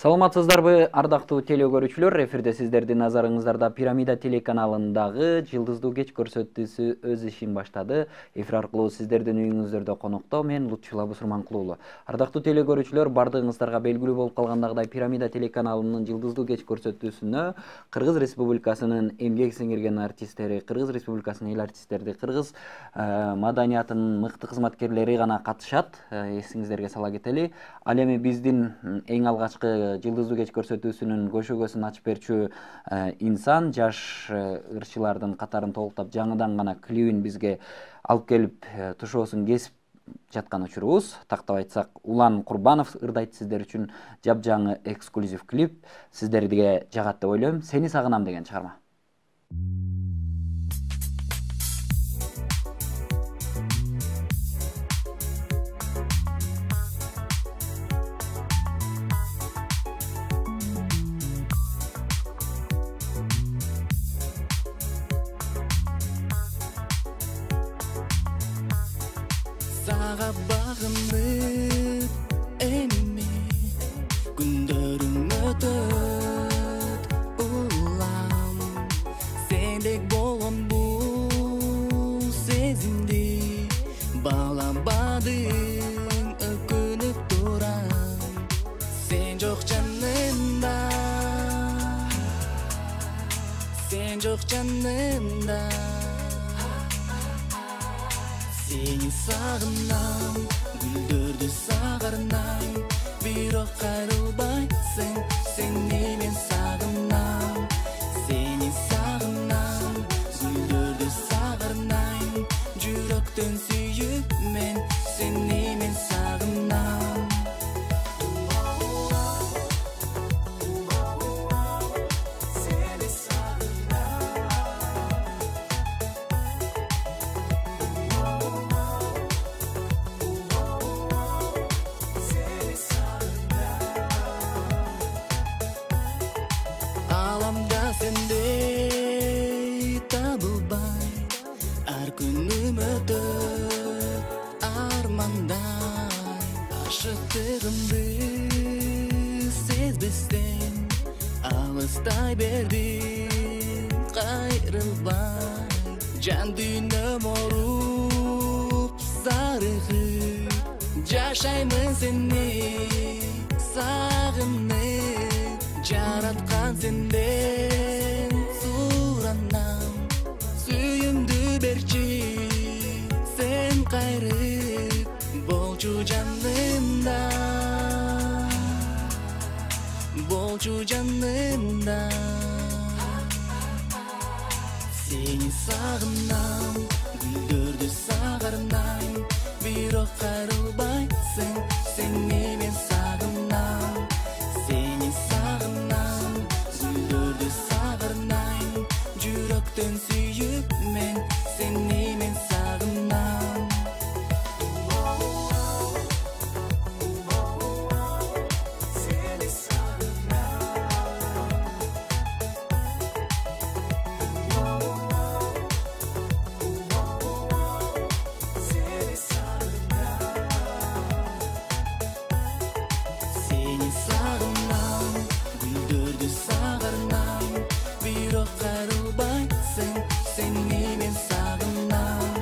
Саламатсыздарбы, ардактуу теле көрүүчүлөр, эфирде сиздердин назарыңыздарда Пирамида телеканалындагы Жылдыздуу кеч көрсөтүүсү өз ишин баштады. Эфир аркылуу сиздердин үйүңүздөрдө конокто мен Лутчула Бусурманкулуу уулу. Ардактуу теле көрүүчүлөр, бардыгыңыздарга белгилүү болуп калгандагыдай Пирамида телеканалынын Жылдыздуу кеч көрсөтүүсүнө Кыргыз Республикасынын эмгек сиңирген артисттери, Кыргыз Республикасынын эл артисттерди, кыргыз маданиятынын мыкты кызматкерлери гана катышат. Эсиңиздерге сала кетели. Ал эми биздин эң алгачкы Жылдыздуу кеч көрсөтүүсүнүн көшөгөсүн ачып берчү инсан, жаш ырчылардын катарын толуктап жаңыдан гана клибин бизге алып келип тушоосун кесип жаткан учурубуз. Тактап айтсак, Улан Курбанов ырдайт сиздер үчүн жапжаңы эксклюзив клип. Сиздерге жагат деп ойлойм. Сени сагынам деген чыгарма. Сага багынып эми күндөрүм өтөт улам, сендек болгон бул сезимди баалабадың, өкүнүп турам, сен жок жанымда, сен жок жанымда. Seni sağınam, güldürdü sağırnam, bирок кайрылбайсың, seni men sağınam. Seni sağınam, güldürdü sağırnam, жүрөктөн сүйүп мен, seni men sağınam. Sendey табылбай, ар күнүм өтөт армандай, ашыктыгымды сезбестен алыстай бердим кайрылбай, жан дүйнөм оруп зарыгып, жашаймын сени сагынып, жараткан сенден суранам, сүйүмдү берчи сен кайрып, болчу жанымда, болчу жанымда. Seni сагынам, гүлдөрдү сагынам, бирок кайрылбайсың, seni men сагынам. Seni sağınam, güldürdü sağırnam, жүрөктөн сүйүп мен, seni men sağınam. Seni sağınam. Seni sağınam. Seni sağınam, güldürdü sağırnam, bирок кайрылбайсың, seni men sağınam.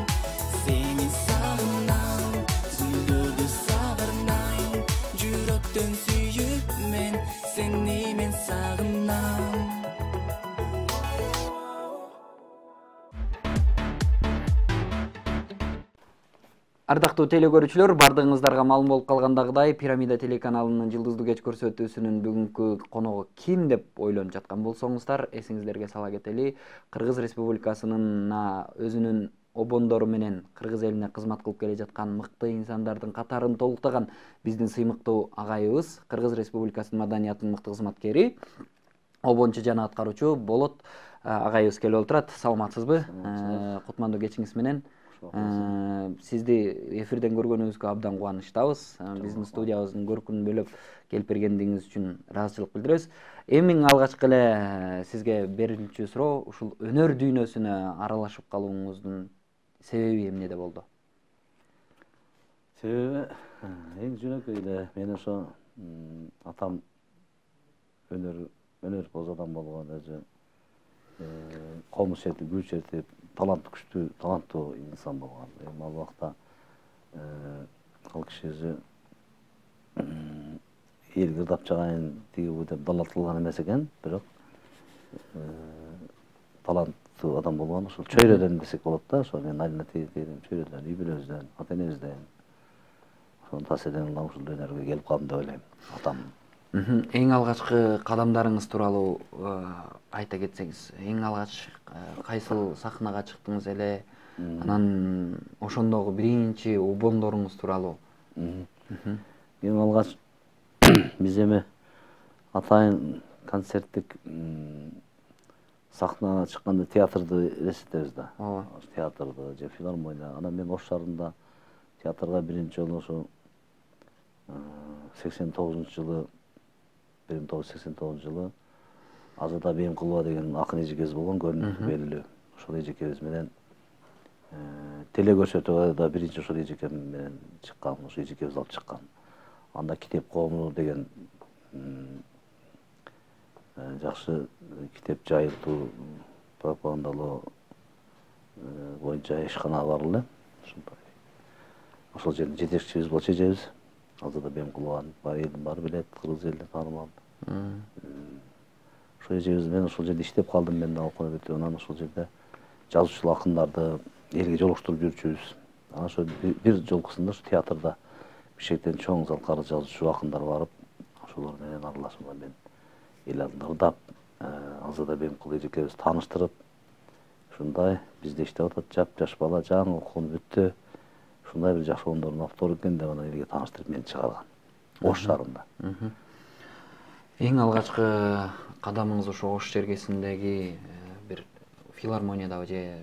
Seni sağınam, güldürdü sağırnam, жүрөктөн сүйүп мен, seni men sağınam. Ардактуу теле көрүүчүлөр, бардыгыңыздарга маалым болуп калгандагыдай Пирамида телеканалынын Жылдыздуу кеч көрсөтүүсүнүн бүгүнкү коногу ким деп ойлонуп жаткан болсоңуздар, эсиңиздерге сала кетели. Кыргыз Республикасынын өзүнүн обондору менен кыргыз элине кызмат кылып келе жаткан мыкты инсандардын катарын толуктаган биздин сыймыктуу агайыбыз, Кыргыз Республикасынын маданиятынын мыкты кызматкери, обончу жана аткаруучу Болот агайыбыз келип отурат. Саламатсызбы? Кутмандуу кечиңиз менен. Сизди эфирден көргөнүбүзгө абдан кубанычтабыз. Биздин студиябыздын көркүн бөлөп келип бергендигиңиз үчүн ыраазычылык билдиребиз. Эми алгачкы эле сизге берилчү суроо ушул өнөр дүйнөсүнө аралашып калууңуздун себеби эмнеде болду? Себеби эң жөнөкөй эле мен ошо атам өнөрпоз адам болгон, өзү комуз чертип, гүл чертип, таланттуу инсан болгон. Эми ал убакта ал киши өзү элге ырдап чыгайын тиги деп далал кылган эмес экен, бирок таланттуу адам болгон. Ошол чөйрөдөн десек болот да, ошо мен айылына тийгем, чөйрөдөн, үй бүлөбүздөн, ата энебизден, ошонун таасиринен улам ушул өнөргө келип калдым деп ойлойм. Атам. Эң алгачкы кадамдарыңыз тууралуу айта кетсеңиз, эң алгач кайсыл сахнага чыктыңыз эле, анан ошондогу биринчи обондоруңуз тууралуу? Эң алгач биз эми атайын концерттик сахнага чыкканда театрды элестетебиз да. Театрды же филармония. Анан мен Ош шаарында театрга биринчи жолу ошо 89-жылы 1989-жылы Азада Бейимкулова деген акын эжекебиз болгон, көрүнүктүү белгилүү. Ошол эжекебиз менен теле көрсөтүүгө да биринчи ошол эжекем менен чыккан, ошол эжекебиз алып чыккан. Анда Китеп коому деген жакшы китеп жайылтуу, пропагандалоо боюнча ишкана бар эле. Ошол жердин жетекчибиз болчу эжебиз. Азада Бейимкулованы элдин баары билет, кыргыз элине таанымал. Ошол эжебиз менен ошол жерде иштеп калдым мен да окуп бүтүп. Анан ошол жерде жазуучу акындарды элге жолуктуруп жүрчүбүз. Анан ошо бир жолкусунда ошо театрда Бишкектен чоң залкары жазуучу акындар барып, ошолор менен аралашып мен эл алдында ырдап, Азада Бейимкулова эжекебиз тааныштырып, ушундай бизде иштеп атат, жаш бала, жаңы окууну бүттү. Ушундай бир жакшы ондордун автору экен деп анан элге тааныштырып мени чыгарган. Ош шаарында. Эң алгачкы кадамыңыз ошо Ош жергесиндеги бир филармониядабы же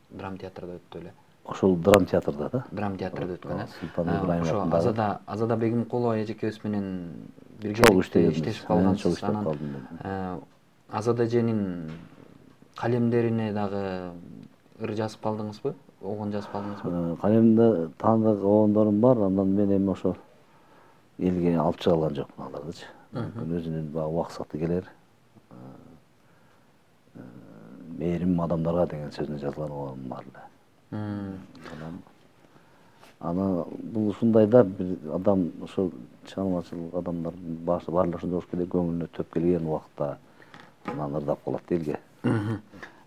драм театрда өттү эле? Ошол драм театрда да. Драм театрда өткөн, Султан Ибраимов ошо Азада Бейимкулова эжекебиз менен бирге иштешип калгансыз. Анан Азада эженин калемдерине дагы ыр жазып калдыңызбы? Огон жазып калдыңызбы? Калемде таандык огондорум бар, андан мен эми ошо элге алып чыга алган жокмун алардычы. Өзүнүн баягы убаксаты келер. Мээрим адамдарга деген сөзүнө жазылган огонум бар эле. Анан бул ушундай да бир адам ошо чыгармачыл адамдар баары ошондой болуш керек, көңүлүнө төп келген убакта анан ырдап калат элге.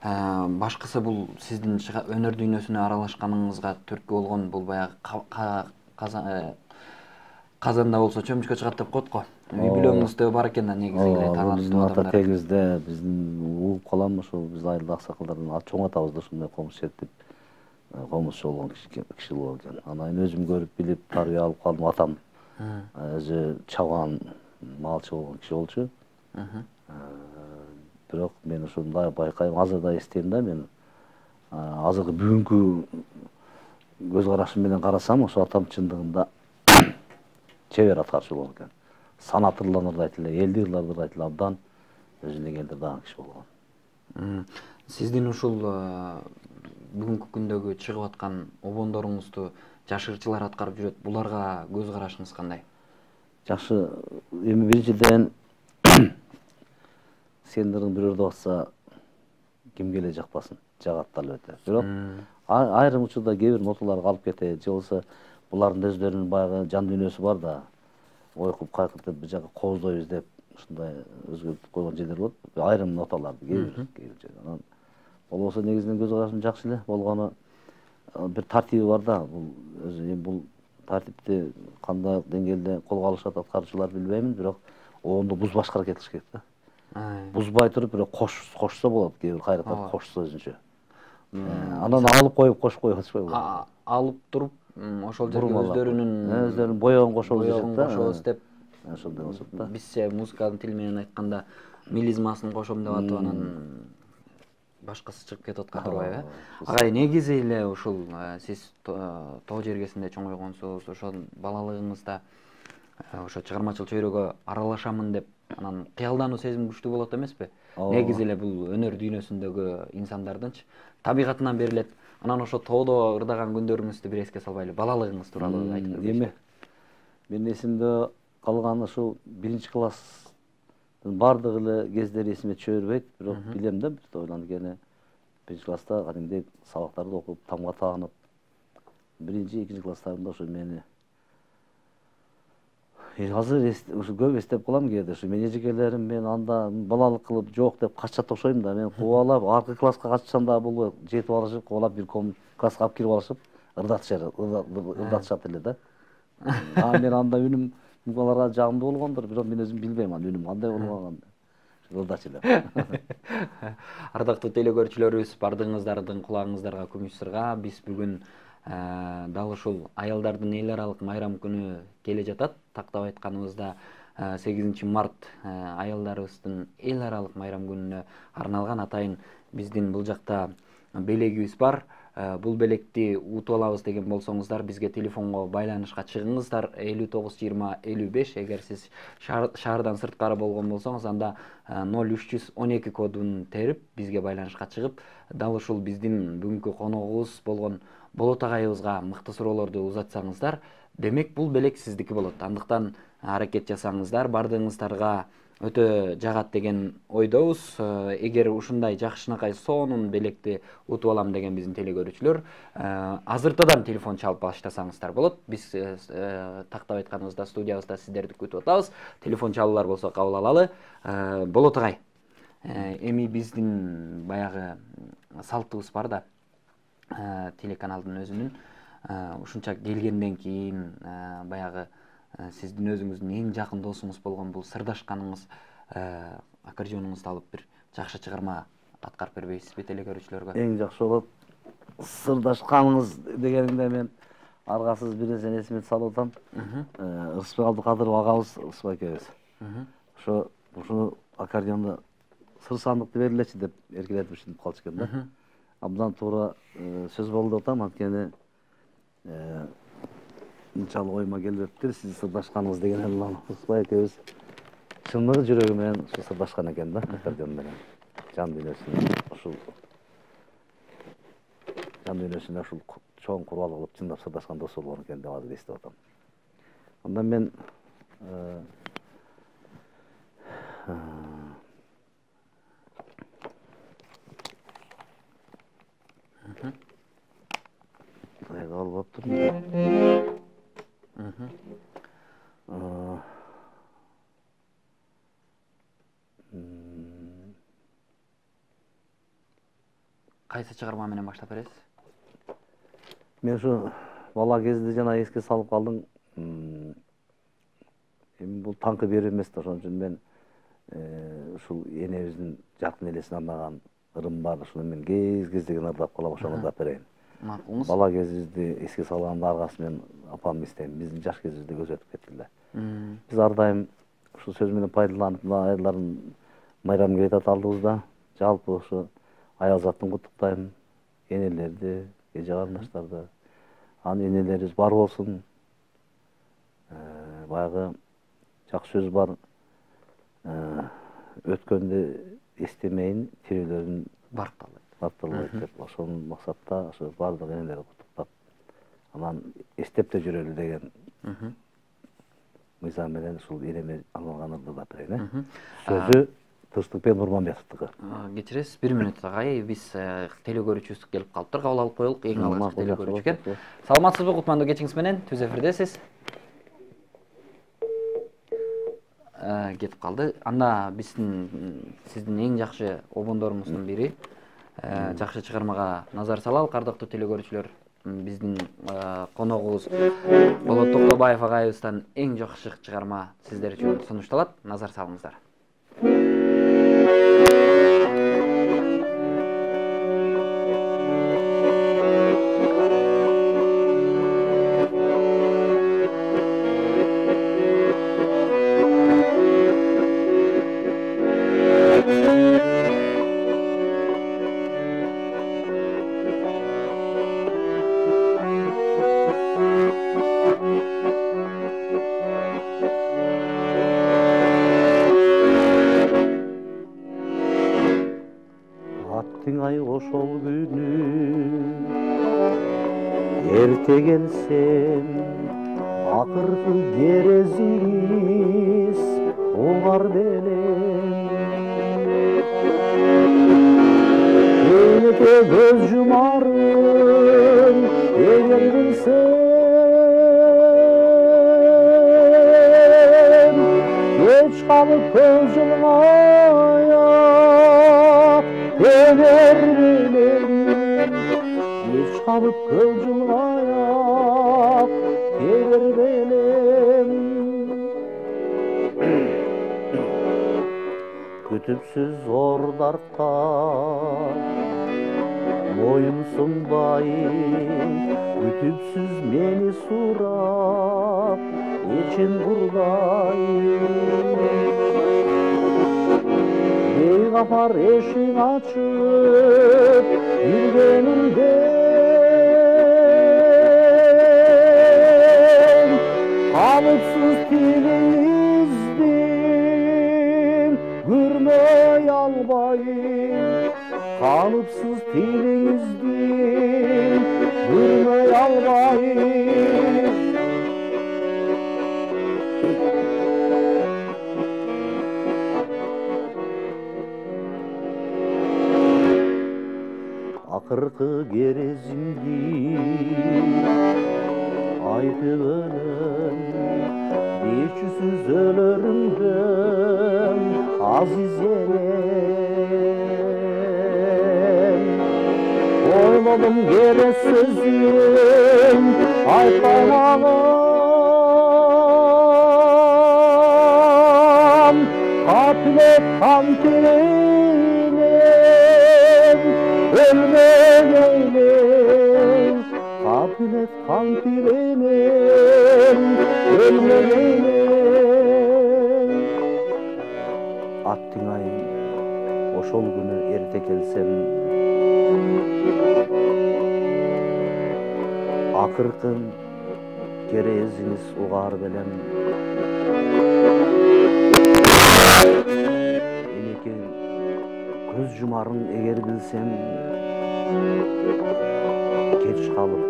Башкысы бул сиздин өнөр дүйнөсүнө аралашканыңызга түрткү болгон бул баягы казанда болсо чөмүчкө чыгат деп коет го. Үй бүлөңүздө бар экен да негизи эле таланттуу адамдар. Ата тегибизде биздин угуп калам ошо биз айылда аксакалдардан чоң атабыз да ушундай комуз чертип комузчу болгон киши болгон экен. Анан өзүм көрүп билип тарбия алып калдым. Атам өзү чабан малчы болгон киши болчу. Бирок мен ушундай байкайм, азыр да эстейм да мен азыркы бүгүнкү көз карашым менен карасам, ошо атам чындыгында чебер аткарчу болгон экен. Санатырлан ырдайт эле, элди ырдайт эле, абдан өзүнүн элди ырдаган киши болгон. Сиздин ушул бүгүнкү күндөгү чыгып аткан обондоруңузду жашыгычылар аткарып жүрөт. Буларга көз карашыңыз кандай? Жакшы. Эми биринчиден сендердин бир ырдап атса кимге эле жакпасын, жагат да албетте. Бирок айрым учурда кээ бир ноталар калып кетет, же болбосо булардын өздөрүнүн баягы жан дүйнөсү бар да, ойкуп кайкыртып бир жака кооздойбуз деп ушундай өзгөртүп койгон жерлер болот. Айрым ноталарды кээ бир жерде. Болбосо негизинен көз карашым жакшы эле болгону бир тартиби бар да. Бул өзү бул тартипти кандай деңгээлде колго алышат аткаруучулар билбеймин, бирок оонду бузбашка аракет кылыш керек да. Бузбай туруп бирок кошсо болот, кээ бир кайраттар кошсо өзүнчө. Анан алып коюп кошпой атышпайбы? Алып туруп ошол жерге өздөрүнүн боёгун кошобуз деп. Ошондой болсот да. Бизче музыканын тили менен айтканда мелизмасын кошом деп атып анан башкасы чыгып кетип аткан турбайбы? Агай, негизи эле ушул сиз тоо жергесинде чоңойгонсуз, ошол балалыгыңызда ошо чыгармачыл чөйрөгө аралашамын деп анан кыялдануу сезим күчтүү болот эмеспи? Негизи эле бул өнөр дүйнөсүндөгү инсандардынчы табигатынан берилет. Анан ошо тоодо ырдаган күндөрүңүздү бир эске салбайлы, балалыгыңыз тууралуу айтып берсеңиз. Эми менин эсимде калган ушул 1-класс Бардык эле кездери эсиме түшө бербейт, бирок билем да, бир тойлан кene 1-класста кадимдей сабактарды окуп, тамга таанып, 1-2 класстарымда ошо мени азыр ушу көп эстеп калам кээде. Ушу мен эжекелерим мен анда балалык кылып жок деп качат окшойм да. Мен кубалап аркы класска качсам да бул жетип алышып, кубалап бир класска алып кирип алышып, ырдатышат эле да. Мен анда үнүм аларга жагымдуу болгондур, бирок мен өзүм билбейм анда үнүм кандай болгонун. Ырдачу элем. Ардактуу телекөрүүчүлөрүбүз, бардыгыңыздардын кулагыңыздарга күмүш сырга. Биз бүгүн дал ушул аялдардын эл аралык майрам күнү келе жатат. Тактап айтканыбызда 8 март аялдарыбыздын эл аралык майрам күнүнө арналган. Атайын биздин бул жакта белегибиз бар. Бул белекти утуп алабыз деген болсоңуздар, бизге телефонго байланышка чыгыңыздар. 592055. Эгер сиз шаардан сырткары болгон болсоңуз, анда 0312 кодун терип бизге байланышка чыгып, дал ушул биздин бүгүнкү коногубуз болгон Болот агайыбызга мыкты суроолорду узатсаңыздар, демек бул белек сиздики болот. Андыктан аракет жасаңыздар, бардыгыңыздарга өтө жагат деген ойдобуз. Эгер ушундай жакшынакай сонун белекти утуп алам деген биздин телекөрүүчүлөр азыртадан телефон чалып баштасаңыздар болот. Биз тактап айтканыбызда студиябызда сиздерди күтүп атабыз. Телефон чалуулар болсо кабыл алалы. Болот агай, эми биздин баягы салтыбыз бар да, телеканалдын өзүнүн ушунча келгенден кийин баягы сиздин өзүңүздүн эң жакын досуңуз болгон бул сырдашканыңыз аккордеонуңузду алып бир жакшы чыгарма аткарып бербейсизби телекөрүүчүлөргө? Эң жакшы болот. Сырдашканыңыз дегениңде мен аргасыз бир нерсени эсиме салып атам. Ырысбек Абдыкадыров агабыз, Ырысбек экөөбүз. Ушуну аккордеонду сыр сандыкты бергилечи деп эркелетип ушинтип калчу экен да. Абдан туура сөз болду деп атам, анткени мынчалык оюма келбептир. Сиз сырдашканыңыз деген эле Ырысбек экөөбүз чындыгы жүрөгү менен ушу сырдашкан экен да, аккордеон менен. Жан дүйнөсүнө ушул чоң курбал кылып чындап сырдашкан дос болгон экен деп азыр эстеп атам. Андан мен Тайга алып аптырмын. Кайсы чыгарма менен баштап бересиз? Мен ушу бала кезде жана эске салып калдым. Эми бул таңкы берүү эмес да, ошон үчүн мен ушул энебиздин жаркын элесине арнаган ырым бар. Ушуну мен кез-кездеген ырдап калам, ошону ырдап берейин. Макулуңуз. Бала кезибизди эске салганда аргасы мен апам эстейм. Биздин жаш кезибизди көз өтүп кетти эле. Биз ар дайым ушул сөз менен пайдаланып, аялдардын майрамын келе жатат алдыбызда. Жалпы ушу аял затын куттуктайм, энелерди, эже карындаштарды. Анын энелерибиз бар болсун. Баягы жакшы сөз бар. Өткөндү эстемейин, тирүүлөрүн барталайт деп. Ошонун максатта ошо бардык энелерди куттуктап, анан эстеп да жүрөлү деген мыйзам менен ушул энеме арналган ырдап берейин. Сөзү Тынчтыкбек Нурманбетовдуку. Кечиресиз, 1 минут агай, биз телекөрүүчүбүз келип калыптыр, кабыл алып коелук. Эң алгачкы телекөрүүчү экен. Саламатсызбы, кутмандуу кечиңиз менен, түз эфирдесиз. Кетип калды. Анда сиздин эң жакшы обондорумуздун бири, жакшы чыгармага назар салалы, ардактуу телекөрүүчүлөр. Биздин коногубуз Болот Токтобаев агайыбыздан эң жакшы чыгарма сиздер үчүн сунушталат. Назар салыңыздар. Ошол күнү эрте келсем, акыркы керезиңиз угар белем Эйнеке көз жумарын эгер билсем Кеч калып көз жылгая эгер билем Кеч калып көз жылгая эгер билем Күтүпсүз зор дартка моюн сунбайын Күтүпсүз мени сурап эчем бурдайын Бейгапар эшик ачып жүргөнүмден Калыпсыз тилиңиздин көрмөй албайм Калыпсыз тилиңиздин көрмөй албайм Акыркы керезимди айтып өлөм Бечүсүз өлөрүмдөн азиз элем Ойлодум керес сөзүн айтпаймагам Капилет кантилем өлмөгейлем Капилет кантилем өлмөгейлем Аттыңай ошол күнү эрте келсем Акыркын керезиңиз угар белем Энеке көз жумарын эгер билсем Кеч калып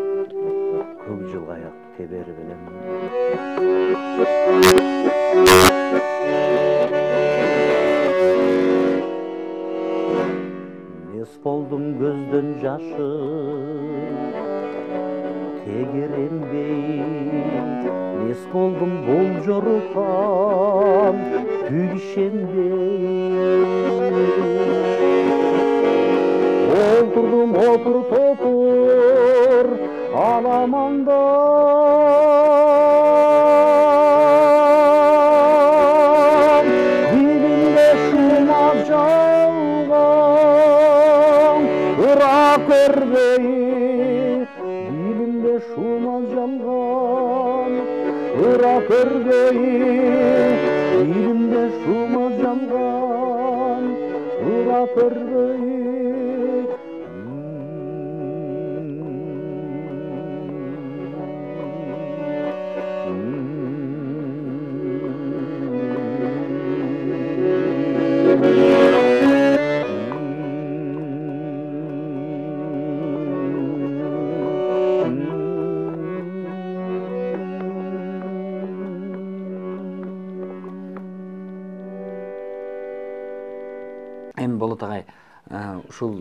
көк жылгаяк тебер белем Мес болдум көздөн жашы тегеренбей Мес болдум бул жорукан түгишенбей Олтурдум отур топур аламанда Дилимде шума жалган ыра көрбей Дилимде шума жалган ыра көрбей Дилимде шума жалган ыра көрбей Эми Болот агай, ушул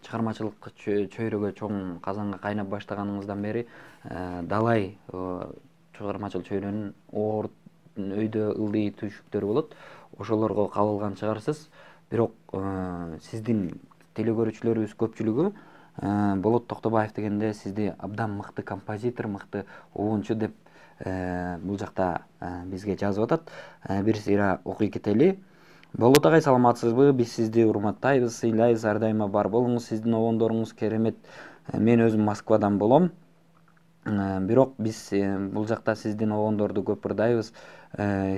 чыгармачылык чөйрөгө чоң казанга кайнап баштаганыңыздан бери далай чыгармачыл чөйрөнүн өйдө ылдый түйшүктөрү болот. Ошолорго кабылган чыгарсыз. Бирок сиздин телекөрүүчүлөрүбүз көпчүлүгү Болот Токтобаев дегенде сизди абдан мыкты композитор, мыкты угунчу деп бул жакта бизге жазып атат. Бир сыйра окуй кетели. Болот агай, саламатсызбы? Биз сизди урматтайбыз, сыйлайбыз, ар дайыма бар болуңуз. Сиздин обондоруңуз керемет. Мен өзүм Москвадан болом. Бирок биз бул жакта сиздин обондорду көп ырдайбыз.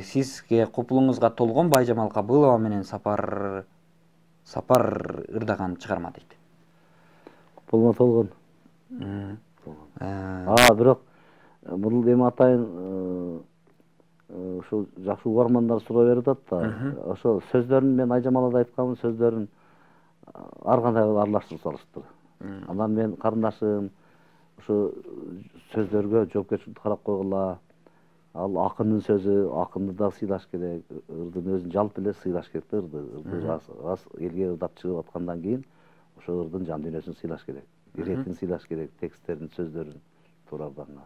Сизге купулуңузга толгон Байжамал Кабылова менен Сапар ырдаган чыгарма дейт. Купулума толгон. Бирок бул эми атайын ошо жакшы угармандар суроо берип атат да. Ошо сөздөрүн мен Айжамалда айтканмын, сөздөрүн ар кандай аралаштырып салыштыр. Анан мен карындашым ошо сөздөргө жоопкерчиликти карап койгула, Ал акындын сөзү, акынды да сыйлаш керек, ырдын өзүн жалпы эле сыйлаш керек да, ырды раз элге ырдап чыгып аткандан кийин ошо ырдын жан дүйнөсүн сыйлаш керек, иретин сыйлаш керек, тексттерин, сөздөрүн туура ырданга.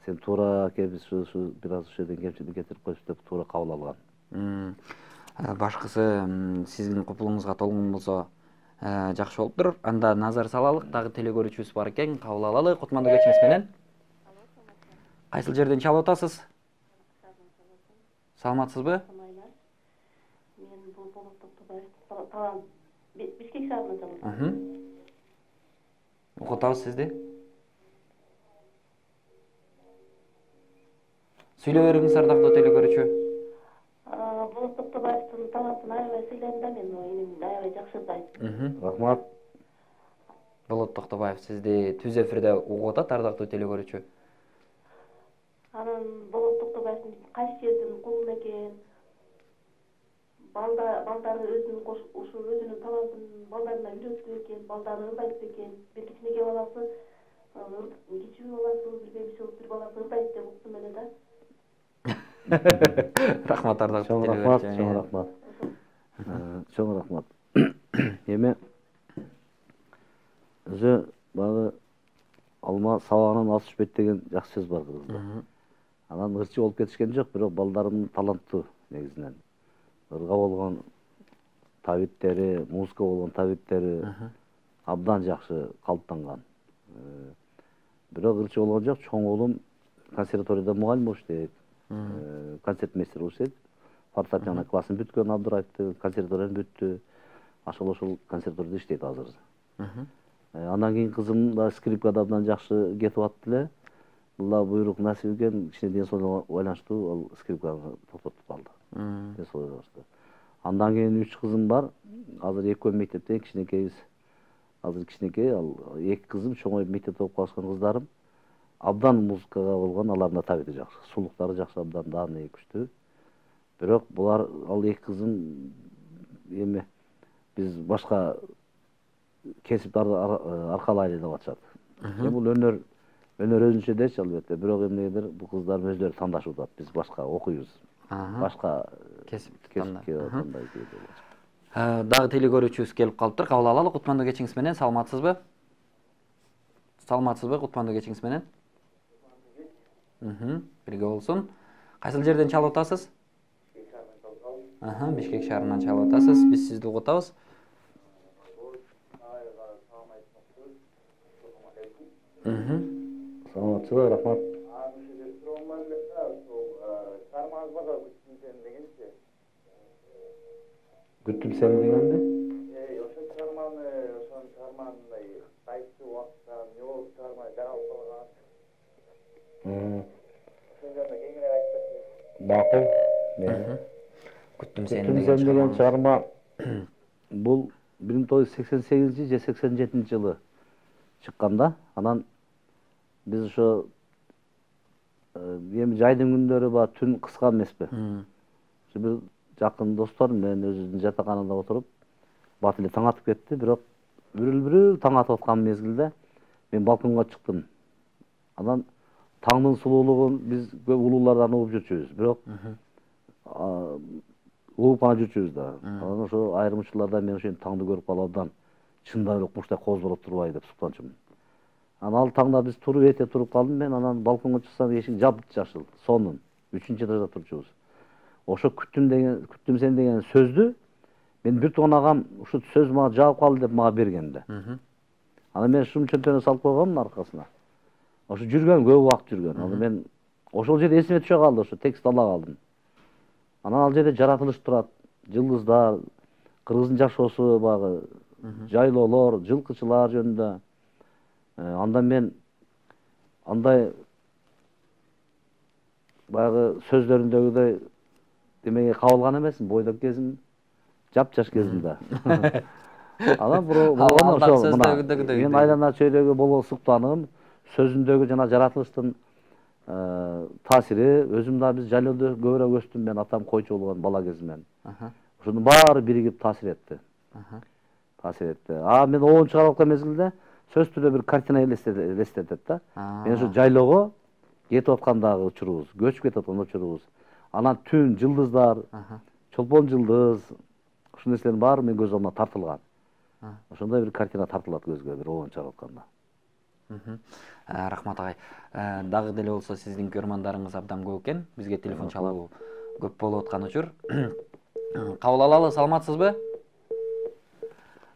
Сен туура келип ушу бир аз ушул жерден кемчилик кетирип коюпсуз деп туура кабыл алган. Башкысы сиздин купулуңузга толгон болсо жакшы болуптур. Анда назар салалык, дагы теле көрүүчүбүз бар экен, кабыл алалы. Кутмандуу кечиңиз менен. Кайсыл жерден чалып атасыз? Саламатсызбы? Мен бул Талан Бишкек шаарынан чалып атам. Угутабыз сизди. Сүйлөп бериңиз, ардактуу теле көрүүчү. Болот Токтогоевдун талантын аябай сыйлайм да, мен энем аябай жакшы ырдайт. Рахмат. Болот Токтогоев сизди түз эфирде угуп атат, ардактуу теле көрүүчү. Анан Болот Токтогоевдун кайсы жердин кулун экен, балдары өзүнүн талантын балдарына үйрөттү экен, балдары ырдайт экен. Бир кичинекей баласы, кичүү баласы, бир бебиси, бир баласы ырдайт деп уктум эле да. Рахмат, ардактуу теле көрүүчү. көрүүчү. Рахмат. Чоң рахмат. Эми өзү баягы алма сабагынан ас түшпөйт деген жакшы сөз бар кыргызда. Анан ырчы болуп кетишкен жок, бирок балдарым таланттуу негизинен. Ырга болгон табиттери, музыка болгон табиттери абдан жакшы калыптанган. Бирок ырчы болгон жок, чоң уулум консерваторияда мугалим болуп иштейт. Концертмейстер болуп иштейт. Фортепиано классын бүткөн Абдыраевди, консерваторияны бүттү. Ошол консерваторияда иштейт азыр. Андан кийин кызым да скрипкада абдан жакшы кетип атты эле. Алла буйрук насип экен, кичине ден соолугуна байланыштуу ал скрипканы токтотуп калды. Ден соолугу жакшы. Андан кийин 3 кызым бар. Азыр экөө мектепте, кичинекейбиз. Азыр кичинекей, ал 2 кызым чоңоюп мектепте окуп калышкан кыздарым. Абдан музыкага болгон алардын табити жакшы. Сулуктары жакшы, абдан дааны күчтүү. Бирок булар ал 2 кызым эми биз башка кесипти аркалайлы деп атышат. Бул өнөр өзүнчө дечи албетте, бирок эмнегедир бул кыздарым өздөрү тандашып атат. Биз башка окуйбуз. Башка кесипти тандайбыз. тандайбыз. Дагы теле көрүүчүбүз келип калыптыр. Кабыл алалы. Кутмандуу кечиңиз менен, саламатсызбы? Саламатсызбы? Кутмандуу кечиңиз менен. Бирге болсун. Кайсыл жерден чалып атасыз? Бишкек шаарынан чалып атасыз. Биз сизди угутабыз. Саламатсызбы, рахмат. Күттүм сени дегенди? Ошо чыгарманы кайсы убакытта эмне болуп чыгармай жаралып калган. Ошондо кеңирээк айтып берсеңиз. Макул. Күттүм сени деген чыгарма бул 1988 же 87 жылы чыккан да. Анан биз ошо эми жайдын күндөрү ба түн кыска эмеспи? Ошо бир жакын достор менен өзүбүздүн жатаканада отуруп бат эле таң атып кетти, бирок бүрүл таң атып аткан мезгилде мен балконго чыктым. Анан таңдын сулуулугун биз көп улуулардан угуп жүрчүбүз, бирок угуп гана жүрчүбүз да. Анан ошо айрым учурларда мен ошентип таңды көрүп калып абдан чындап эле куштай козболоп турбайбы деп суктанчумун. Анан ал таңда биз эрте туруп калдым мен, анан балконго чыксам эшик жапжашыл, сонун. 3-чү этажда турчубуз. Ошо күттүм сени деген сөздү мен бир тууган агам ушу сөз мага жаап калды деп мага берген да. Анан мен шум чөнтөнө салып койгонмун аркасына. Ошо жүргөн, көп убакыт жүргөн. Анан мен ошол жерде эсиме түшө калды, ошо текст ала калдым. Анан ал жерде жаратылыш турат, жылдыздар, кыргыздын жашоосу багы, жайлоолор, жылкычылар жөнүндө. Анда мен андай баягы сөздөрүндөгүдөй демеге кабылган эмесмин, бойдок кезим, жапжаш кезимде. Анан мен айлана чөйрөгө боло суктанып, сөзүндөгү жана жаратылыштын таасири, өзүм да биз жайлоодо көбүрөөк өстүм, мен атам койчу болгон бала кезимден. Ошонун баары биригип таасир этти. Мен оон чыгарып аткан мезгилде сөз түрдө бир картина элестетет да. Мен ошо жайлоого кетип аткандагы учурубуз, көчүп кетип аткан учурубуз, анан түн жылдыздар, чолпон жылдыз, ушул нерселердин баары менин көз алдыма тартылган. Ошондой бир картина тартылат көзгө, бир обон чыгарып атканда. Рахмат агай. Дагы деле болсо сиздин көрмандарыңыз абдан көп экен. Бизге телефон чалуу көп болуп аткан учур. Кабыл алалы, саламатсызбы?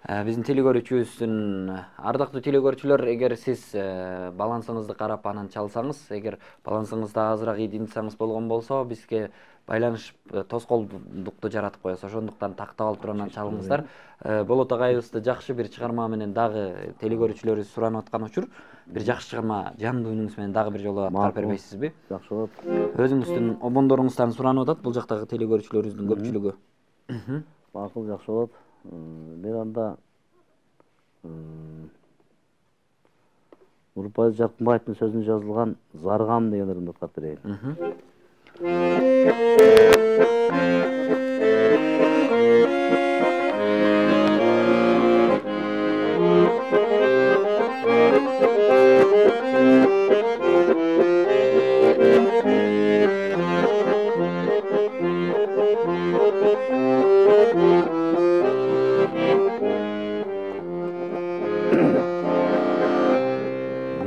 Биздин телекөрүүчүбүздүн ардактуу телекөрүүчүлөр, эгер сиз балансыңызды карап анан чалсаңыз, эгер балансыңызды азыраак ийдинсаңыз болгон болсо, бизге байланыш тоскоолдукту жаратып коебуз. Ошондуктан тактап алып туруп анан чалыңыздар. Болот агайыбызды жакшы бир чыгарма менен дагы телекөрүүчүлөрүбүз суранып аткан учур. Бир жакшы чыгарма жандуу үнүңүз менен дагы бир жолу аткарып бербейсизби? Жакшы болот. Өзүңүздүн обондоруңуздан суранып атат бул жактагы телекөрүүчүлөрүбүздүн көпчүлүгү. Макул, жакшы болот. Мен анда Нурпайыз Жаркынбаевдин сөзүнө жазылган Заргам деген ырымды аткарып берейин.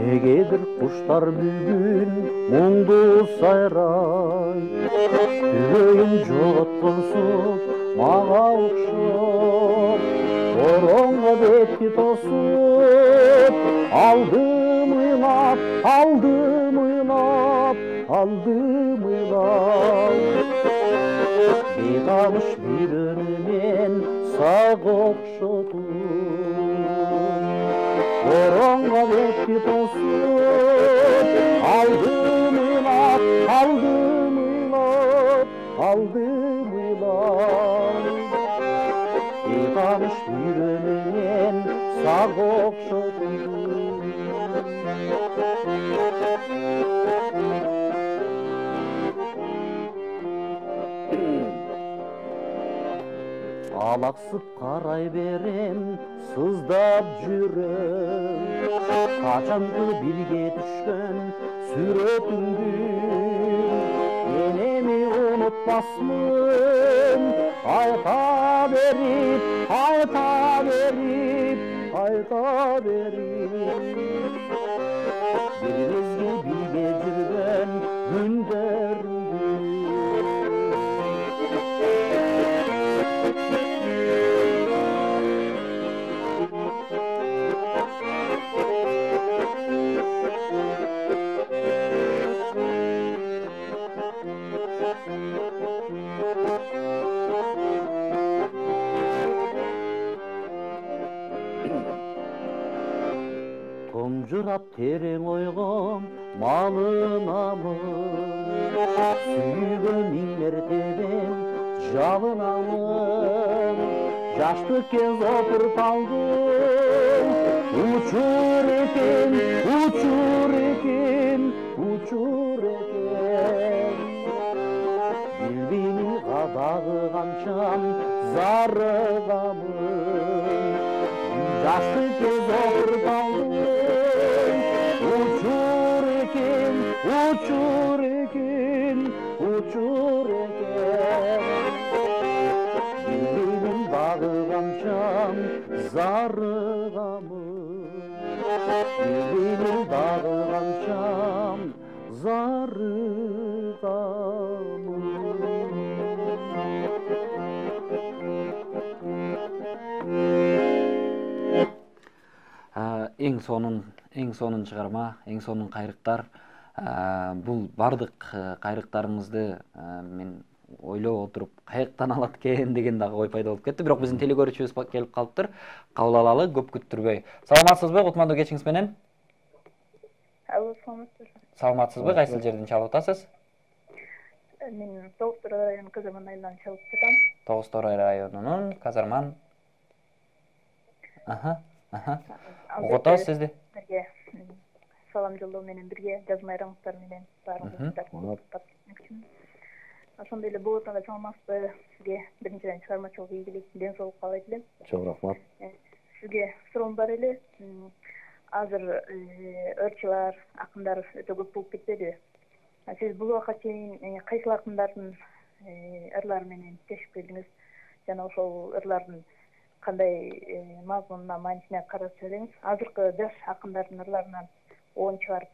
Негедир куштар бүгүн муңду сайрай, түбөйүн жоготконсуп мага окшоп, коронго бетти тосуп, алдым ыйлап, бейтаныш бир өнүмен сага окшотуп, коронго бетти тосуп, алдым ыйлап, бейтаныш бир өнүмен сага окшотуп. Алаксып карай берем, сыздап жүрөм, качанкы бирге түшкөн сүрөтүңдү, мен эми унутпасмын, айта берип, бир мезгил бирге жүргөн күндөрүңдү. Томжурап терең ойго малынамын, сүйгөн миң мертебем жалынамын, жаштык кез опурталдым, учур экен, билбеймин кадагы канчам зарыгамын, жаштык кез опурталдым, учур экен, билбеймин дагы канчам зарыгамын, билбеймин дагы канчам зарыгамын. Эң сонун чыгарма, эң сонун кайрыктар. Бул бардык кайрыктарыңызды мен ойлоп отуруп каяктан алат экен деген дагы ой пайда болуп кетти. Бирок биздин телекөрүүчүбүз келип калыптыр. Кабыл алалы, көп күттүрбөй. Саламатсызбы? Кутмандуу кечиңиз менен. Саламатсызбы? Кайсыл жерден чалып атасыз? Мен Тогуз Торой районунун Казарман айылынан чалып жатам. Тогуз Торой районунун Казарман. Угута сизди. Салам жолдоо менен бирге жазмайраңыздар менен баарыңызды ошондой эле болот ага саламатсызбы? Сизге биринчиден чыгармачылык ийгилик, ден соолук каалайт элем. Чоң рахмат. Сизге суроом бар эле. Азыр ырчылар, акындар өтө көп болуп кетпедиби? Сиз бул убакка чейин кайсыл акындардын ырлары менен иштешип келдиңиз жана ошол ырлардын кандай мазмунуна, маанисине карап сөйлөңүз. Азыркы жаш акындардын ырларынан оон чыгарып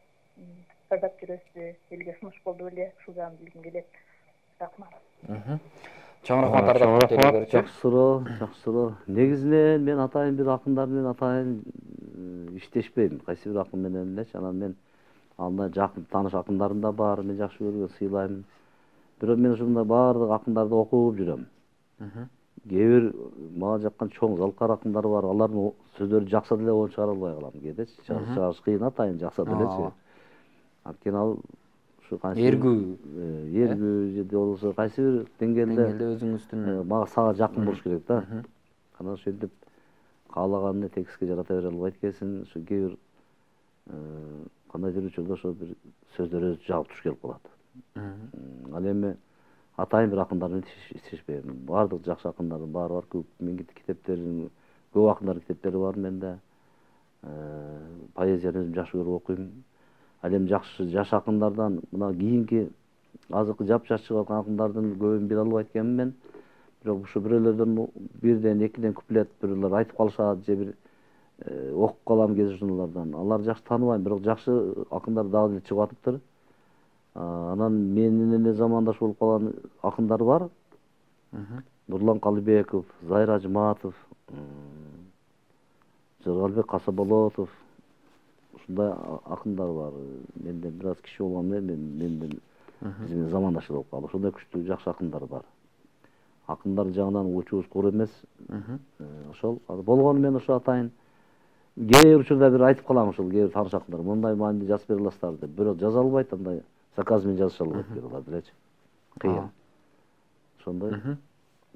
ырдап жүрөсүзбү, элге сунуш болду беле? Ушул жагын билгим келет. Рахмат. Чоң рахмат ардактуу телекөрүүчү. Жакшы суроо. Негизинен мен атайын бир акындар менен атайын иштешпейм. Кайсы бир акын менен элечи. Анан мен анда жакын тааныш акындарым да бар. Мен жакшы көргөн, сыйлайм. Бирок мен ушундай баардык акындарды окуп жүрөм. Кээ бир мага жаккан чоң залкар акындар бар. Алардын сөздөрү жакса деле оон чыгара албай калам кээдечи. Чыгарыш кыйын атайын жакса делечи. Анткени ал ушу кайсы эргүү же болбосо кайсы бир деңгээлде өзүңүздүн мага сага жакын болуш керек да. Анан ошентип каалаганды текстке жарата бере албайт экенсиң. Ушу кээ бир кандайдыр учурда ошо бир сөздөр өзү жагып туш келип калат. Ал эми атайын бир акындар менен иштешпейм. Баардык жакшы акындардын баары бар. Менин китептерим, көп акындардын китептери бар менде. Поэзияны өзүм жакшы көрүп окуйм. Ал эми жаш акындардан мына кийинки азыркы жапжаш чыгып аткан акындардын көбүн биле албайт экенмин мен. Бирок ушу бирөөлөрдөн бирден, экиден куплет бирөөлөр айтып калышат же бир окуп калам кээ журналдардан. Аларды жакшы тааныбайм, бирок жакшы акындар дагы эле чыгып атыптыр. Анан менин эле замандаш болуп калган акындар бар. Нурлан Калыбеков, Зайра Жыматов, Жыргалбек Касаболотов, ушундай акындар бар. Менден бир аз киши болгон менден биздин замандаш болуп калды. Ошондой күчтүү жакшы акындар бар. Акындар жагынан учубуз кур эмес. Ошол болгону мен ошо атайын кээ бир учурда бир айтып калам ушул кээ бир тааныш акындар. Мындай маанилүү жазып бере аласыздар деп. Бирок жаза албайт, андай заказ менен жазыша албайт алар делечи. Кыйын. Ошондой.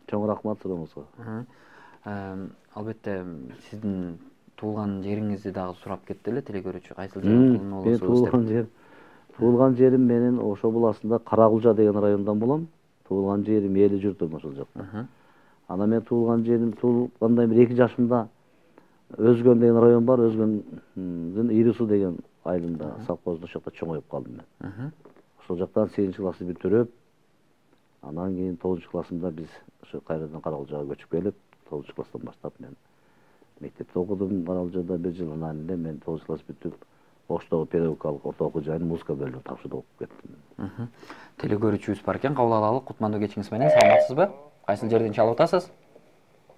Чоң рахмат сурооңузга. Албетте сиздин туулган жериңизди дагы сурап кетти эле телекөрүүчү. Кайсыл жерден болосуңуз деп. Туулган жерим менин Ошо буласында Каракулжа деген райондан болом. Туулган жерим, эли журтум ошол жакта. Анан мен туулган жерим туулгандай бир 2 жашымда Өзгөн деген район бар, Өзгөндүн Ирису деген айылында совхозда ошол жакта чоңоюп калдым мен. Ошол жактан 8-чи классты бүтүрүп, анан кийин 9-чу классымда биз ошо кайрадан Каракулжага көчүп келип, 9-чу класстан баштап мен мектепте окудум. Каракулжада 1 жыл, анан эле мен 9-чу класс бүтүп, Оштогу педагогикалык орто окуу жайынын музыка бөлүмүн тапшырып окуп кеттим. Телекөрүүчүбүз бар экен, кабыл алалы. Кутмандуу кечиңиз менен, саламатсызбы? Кайсыл жерден чалып атасыз?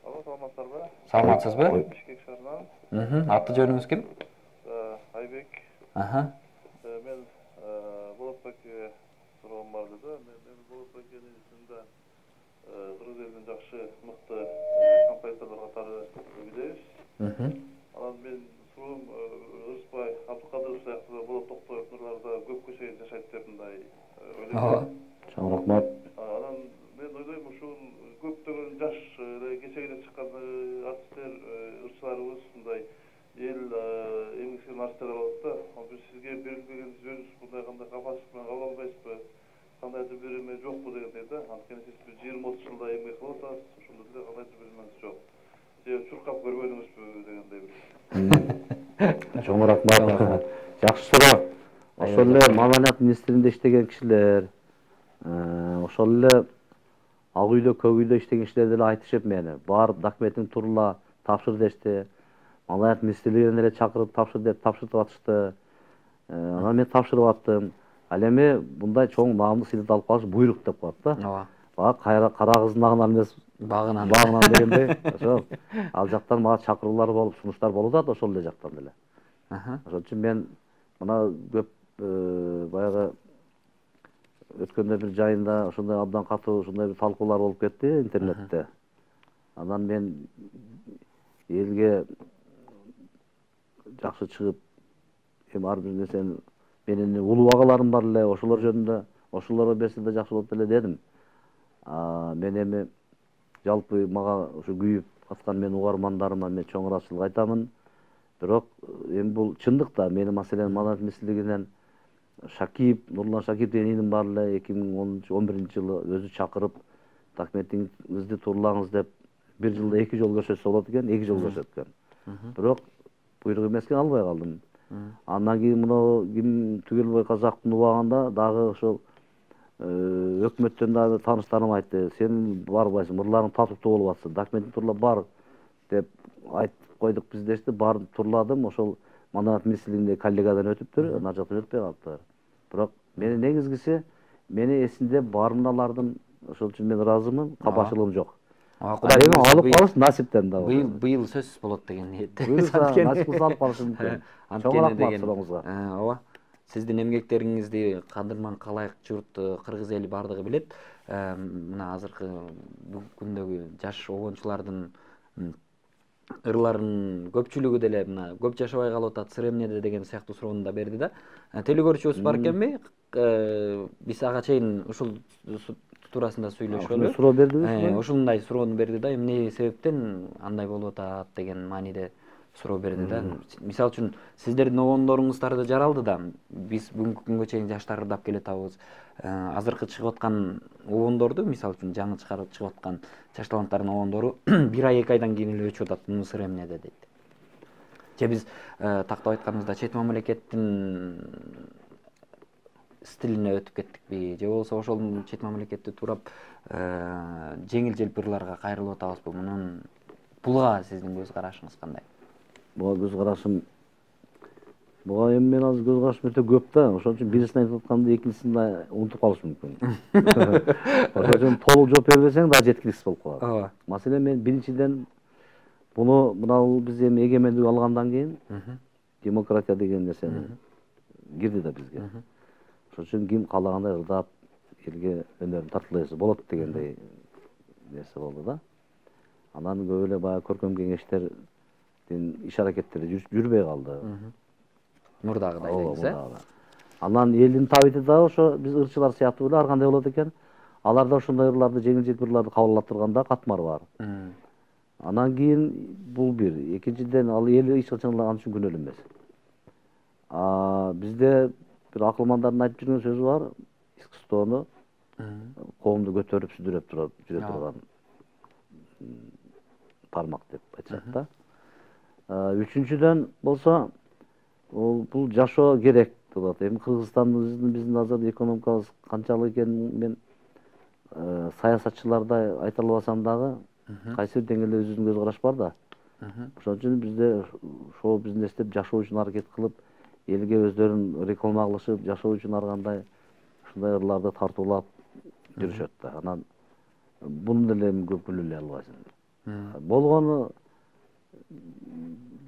Саламатсыздарбы? Саламатсызбы? Бишкек шаарынан. Аты жөнүңүз ким? Айбек. Мен Болотбекке суроом бар деди. Мен Болотбекенин ичинде кыргыз элинин жакшы, мыкты композиторлор катары билебиз. Анан мен суроом Ырысбай Абдыкадыров сыяктуу Болот Токтоевдурларда көпкө чейин жашайт деп мындай ойлойм. Чоң рахмат. Анан мен ойлойм ушул көптөгөн жаш кечегине чыккан артисттер, ырчыларыбыз мындай эл эмгексиген артисттер болот да. Биз сизге берилген сөз мындай кандай капасыз менен кабыл албайсызбы? Кандайдыр бир эме жокпу дегендей да. Анткени сиз 20-30 жылда эмгек кылып атасыз, ошондо деле кандайдыр бир эмеңиз жок. Же чуркап көрбөдүңүзбү дегендей бир. Чоң рахмат. Жакшы суроо. Ошол эле Маданият министрлигинде иштеген кишилер, ошол эле Ак үйдө, Көк үйдө иштеген кишилер деле айтышып мени, бар документиң турла, тапшыр дешти. Маданият министрлигинен эле чакырып тапшыр деп тапшыртып атышты. Анан мен тапшырып аттым. Ал эми мындай чоң наамдуу сыйлык алып калыш буйрук деп коет да. Бага кара кыздын агынан эмес, багынан дегендей. Ошол ал жактан мага чакыруулар болуп, сунуштар болуп атат ошол эле жактан деле. Ошон үчүн мен мына көп баягы өткөндө бир жайында ошондой абдан катуу ошондой бир талкуулар болуп кетти интернетте. Анан мен элге жакшы чыгып, эми ар бир нерсени менин улуу агаларым бар эле, ошолор жөнүндө ошолорго берсе да жакшы болот эле дедим. Мен эми жалпы мага ушу күйүп аткан менин угармандарыма мен чоң ыраазычылык айтамын. Бирок эми бул чындык да. Мени маселен Маданият министрлигинен Нурлан Шакиев деген иним бар эле 2011-жылы өзү чакырып документиңизди турлаңыз деп 1 жылда 2 жолу көрсөтсө болот экен, 2 жол көрсөткөн. Бирок буйрук эмес экен, албай калдым. Андан кийин мына ким Түгелбай Казактын убагында дагы ошол өкмөттөн дагы тааныштарым айтты. Сен барбайсың, мырларың татыктуу болуп атсын. Документиң турла бар деп айтып койдук биз дешти. Барып турладым. Ошол Манарат министрлигинде коллегадан өтүптүр, ана жактан өтпөй калыптыр. Бирок менин негизгиси мени эсинде бармыналардын, ошол үчүн мен ыраазымын, кабачылыгым жок. Кудай алып калыш насиптен да. Быйыл сөзсүз болот деген ниетте. Насип кылса алып калышы мүмкүн. Чоң рахмат сурооңузга. Ооба. Сиздин эмгектериңизди кадырман калайык журт, кыргыз эли бардыгы билет. Мына азыркы күндөгү жаш обончулардын ырларынын көпчүлүгү деле мына көп жашабай калып атат, сыр эмнеде деген сыяктуу суроону да берди да. Телекөрүүчүбүз бар экенби? Биз ага чейин ушул туурасында сүйлөшкөнбү? Суроо бердиби? Ушундай суроону берди да, эмне себептен андай болуп атат деген мааниде суроо берди да. Мисалы үчүн сиздердин обондоруңуздар жаралды да. Биз бүгүнкү күнгө чейин жаштар ырдап келатабыз. Азыркы чыгып аткан обондорду, мисалы үчүн жаңы чыгып аткан жаш таланттардын обондору 1 ай 2 айдан кийин эле өчүп атат, муну сыр эмнеде дейт. Же биз тактап айтканыбызда чет мамлекеттин стилине өтүп кеттикпи, же болбосо ошол чет мамлекетти туурап жеңил желпирларга кайрылып атабызбы? Буга сиздин көз карашыңыз кандай? Буга көз карашым эми мен азыр көз карашым өтө көп да. Ошон үчүн бирисин айтып атканды экинчисин унутуп калыш мүмкүн. Ошон үчүн толук жооп бербесең да жеткиликсиз болуп калат. Ооба. Маселен мен биринчиден мына биз эми эгемендик алгандан кийин демократия деген нерсе кирди да бизге. Ошон үчүн ким каалагандай ырдап элге өнөрүн тартуулайсы болот дегендей нерсе болду да. Анан көп эле баягы көркөм кеңештердин иш аракеттери жүрбөй калды. Мурдагыдай деңиз, Анан элдин табити дагы ошо биз ырчылар сыяктуу эле ар кандай болот экен. Алар да ошондой ырларды, жеңил желпирларды кабыл алып турганда катмар бар. Анан кийин бул бир. Экинчиден ал эл эч качан ан үчүн күнөөлүү эмес. Бизде бир акылмандардын айтып жүргөн сөзү бар. Искусствону коомду көтөрүп сүдүрөп жүрө турган тармак деп айтышат да. Үчүнчүдөн болсо бул жашоо керек болот. Эми Кыргызстандын биздин азыр экономикабыз канчалык экенин мен саясатчылардай айта албасам дагы кайсы бир деңгээлде өзүбүздүн көз караш бар да. Ошон үчүн бизде шоу бизнестеп жашоо үчүн аракет кылып, элге өздөрүн реклама кылышып, жашоо үчүн ар кандай ушундай ырларды тартуулап жүрүшөт да. Анан буну деле көп күнөөлөй албайсың. Болгону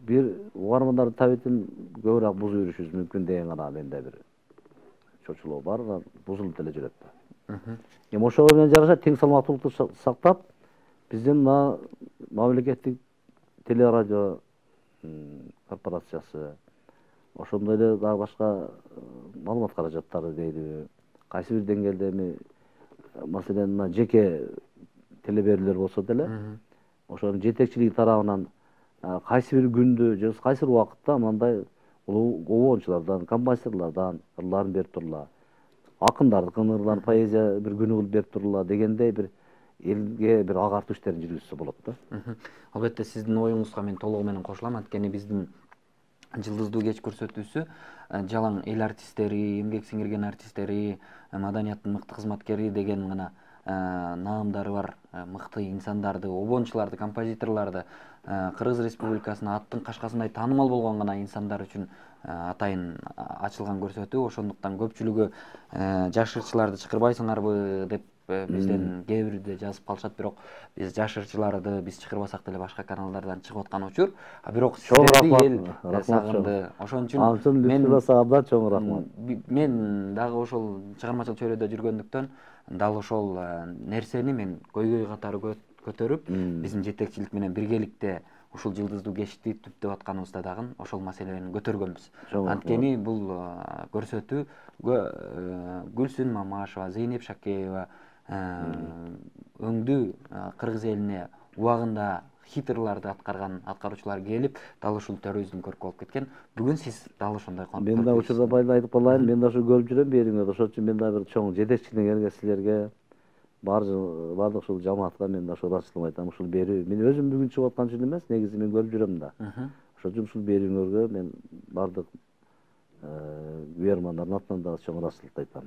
бир угармандардын табитин көбүрөөк бузуп жүрүшүбүз мүмкүн деген гана менде бир чочулоо бар, бузулуп деле жүрөт да. Эми ошого менен жараша тең салмактуулукту сактап, биздин мамлекеттик телерадио корпорациясы, ошондой эле дагы башка маалымат каражаттары дейли, кайсы бир деңгээлде эми маселен мына жеке телеберүүлөр болсо деле, ошонун жетекчилиги тарабынан кайсы бир күндү же кайсы бир убакытта мындай обончулардан, композиторлордон ырларын берип турла, акындардын ырларын поэзия бир күнү кылып берип турла дегендей бир элге бир агартуу иштерин жүргүзсө болот да. Албетте сиздин оюңузга мен толугу менен кошулам. Анткени биздин Жылдыздуу кеч көрсөтүүсү жалаң эл артисттери, эмгек сиңирген артисттери, маданияттын мыкты кызматкери деген гана наамдары бар мыкты инсандарды, обончуларды, композиторлорду, Кыргыз Республикасынын аттын кашкасындай таанымал болгон гана инсандар үчүн атайын ачылган көрсөтүү. Ошондуктан көпчүлүгү жаш ырчыларды чакырбайсыңарбы деп бизден кээ бирде жазып калышат, бирок биз жаш ырчыларды биз чакырбасак деле башка каналдардан чыгып аткан учур. Бирок сиздерди эл сагынды. Ошон үчүн чоң рахмат. Мен дагы ошол чыгармачыл чөйрөдө жүргөндүктөн дал ошол нерсени мен көйгөй катары көтөрүп, биздин жетекчилик менен биргеликте ушул жылдыздуу кечти түптөп атканыбызда дагы ошол маселени көтөргөнбүз. Анткени бул көрсөтүү Гүлсүн Мамашева, Зейнеп Шакеева өңдүү кыргыз элине убагында хитрlарды аткарган аткаруучулар келип, дал ушул төрүбүздүн көркү болуп кеткен. Бүгүн сиз дал ошондой конкурс. Мен да учурда байла айтып калайын, мен да ушу көрүп жүрөм бериңерди. Ошон үчүн мен да бир чоң жетекчилигиңерге, силерге, баардык ушул жамаатка мен да ошол ачылып айтам. Ушул берүү мен өзүм бүгүн чыгып аткан үчүн эмес, негизи мен көрүп жүрөм да. Ошон үчүн ушул берүүңөргө мен баардык Күйөрмандардын атынан дагы чоң ыраазычылык айтам.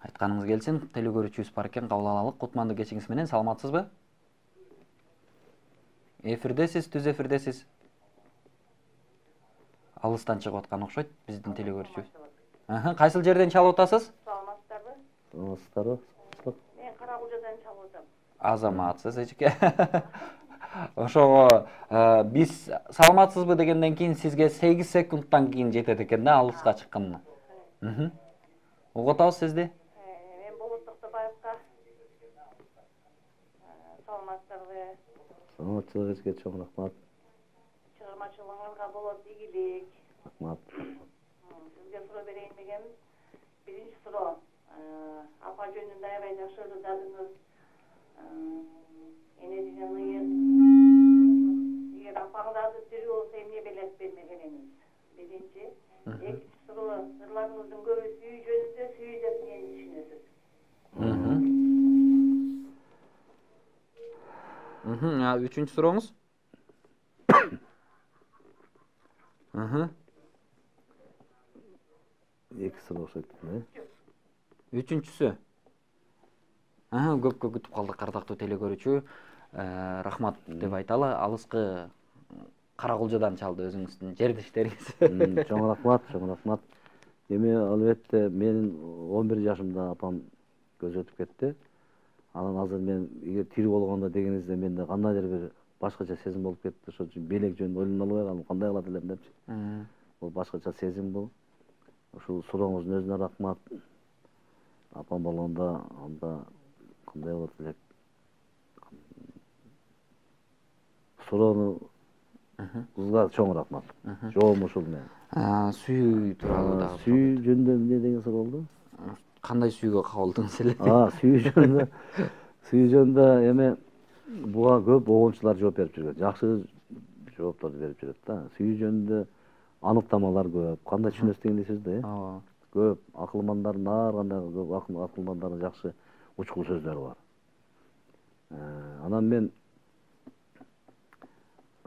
Айтканыңыз келсин, теле көрүүчүбүз бар экен, кабыл алалы. Кутмандуу кечиңиз менен, саламатсызбы? Эфирдесиз, түз эфирдесиз. Алыстан чыгып аткан окшойт биздин теле көрүүчүбүз. Кайсыл жерден чалып атасыз? Саламатсыздарбы? Саламатсыздарбы? Мен Карагулжадан чалып атам. Азаматсыз эчке. Ошого биз саламатсызбы дегенден кийин сизге 8 секундтан кийин жетет экен да алыска чыкканына. Угуп атабыз сизди. Мен Болот Токтобаевка саламатсыздарбы? Саламатчылык эчке чоң рахмат. Чыгармачылыгыңызга болот ийгилик. Рахмат. Сизге суроо берейин дегем. Биринчи суроо. Апа жөнүндө аябай жакшы ырдадыңыз. Эне деген ыйык. Эгер апаңыз тирүү болсо эмне белет бермегениңиз? Биринчи. Экинчи суроо. Ырларыңыздын көбү сүйүү жөнүндө, сүйүү деп эмнени түшүнөсүз? Үчүнчү сурооңуз? Эки суроо окшойт, Үчүнчүсү. Көпкө күтүп калдык, ардактуу теле көрүүчү. Рахмат деп айталы. Алыскы Карагулжадан чалды өзүңүздүн жердештериңиз. Чоң рахмат, чоң рахмат. Эми албетте менин 11 жашымда апам көз өтүп кетти. Анан азыр мен эгер тирүү болгондо дегенинизде менде кандайдыр бир башкача сезим болуп кетти. Ошол үчүн белек жөнүндө ойлоно албай калдым, кандай кылат элем депчи. Бул башкача сезим бул. Ушул сурооңуздун өзүнө рахмат. Апам болгондо анда кандай болот элек? Суроону кызга чоң рахмат. Жообум ушул мен. Сүйүү тууралуу дагы. Сүйүү жөнүндө эмне деген суроо болду? Кандай сүйүүгө кабылдыңыз эле? Сүйүү жөнүндө. Сүйүү жөнүндө эми буга көп огончулар жооп берип жүргөн. Жакшы жоопторду берип жүрөт да. Сүйүү жөнүндө аныктамалар көп. Кандай түшүнөсүз деген сөздө, көп акылмандардын ар кандай көп акылмандардын жакшы учкул сөздөрү бар. Анан мен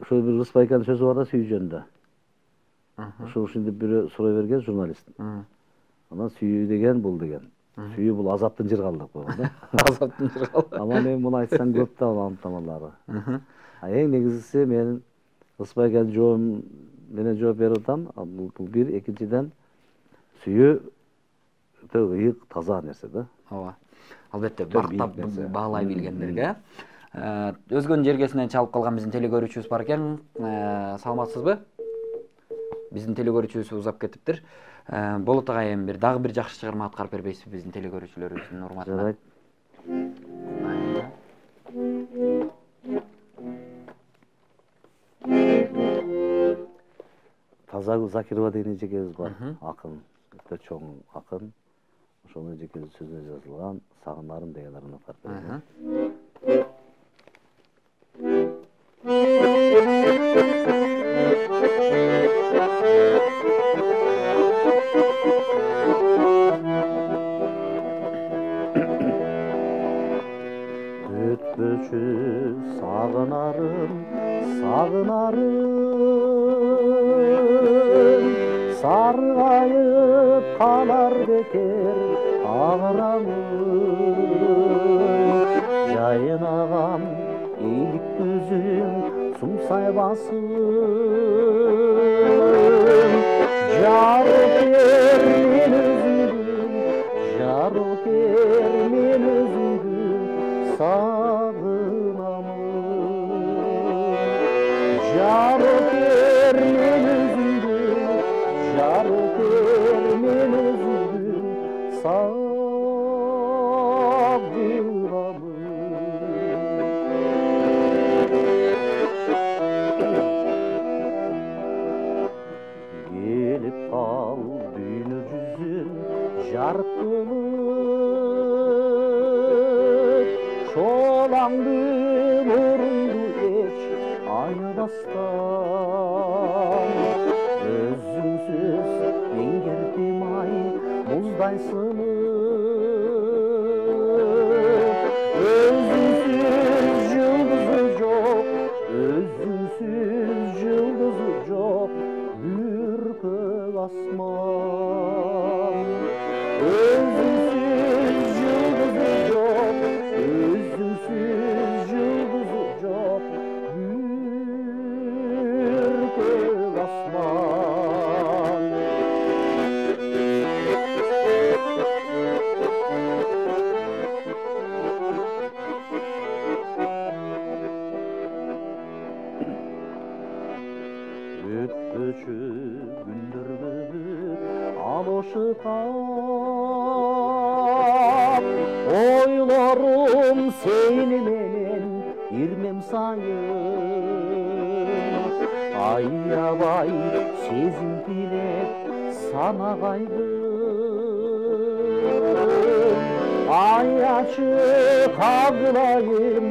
ошол бир Рыспайканын сөзү бар да сүйүү жөнүндө. Ушинтип бирөө сурой берген журналист. Анан сүйүү деген бул деген. Сүйүү бул азаптын жыргалы деп койгон да. Азаптын жыргалы. Анан эми муну айтсаң көп да аныктамалары. Эң негизгиси менин Рыспайканын жообум менен жооп берип атам. Бул бир, экинчиден сүйүү өтө ыйык, таза нерсе да. Ооба. Албетте бактап баалай билгендерге. Өзгөнүн жергесинен чалып калган биздин теле көрүүчүбүз бар экен. Саламатсызбы? Биздин теле көрүүчүбүз узап кетиптир. Болот агай эми дагы бир жакшы чыгарма аткарып бербейсизби биздин теле көрүүчүлөрүбүздүн урматына? Жарайт. Тазагүл Закирова деген эжекебиз бар, акын, өтө чоң акын. Ошонун эжекебиздин сөзүнө жазылган "Сагынарым" деген ырын аткарып берем. Өтпөчү сагынарым, сагынарым, саргайып калар бекер агырамын. Жайнаган эйлик көзүң сумсай басым, жарыкер мен өзүңдү, жарыкер мен өзүңдү сагынамын. Жарыкер мен өзүңдү, жарыкер мен өзүңдү сагынамын. Келип кал дүйнө жүзүн жарык кылып, шолаңды мурунду эч айнабастан. Өзүңсүз эңгердим ай муздай сынып, өзүңсүз жылдызы жок, өзүңсүз жылдызы жок, бүркөк асман. Өзүңсүз жылдызы жок, өзүңсүз жылдызы жок, бүркөк асман. Өтпөчү күндөрдү алышып, ойлорум сени менен ирмем сайын. Аябай сезим тилеп санагайдым. Аячы кагылайын,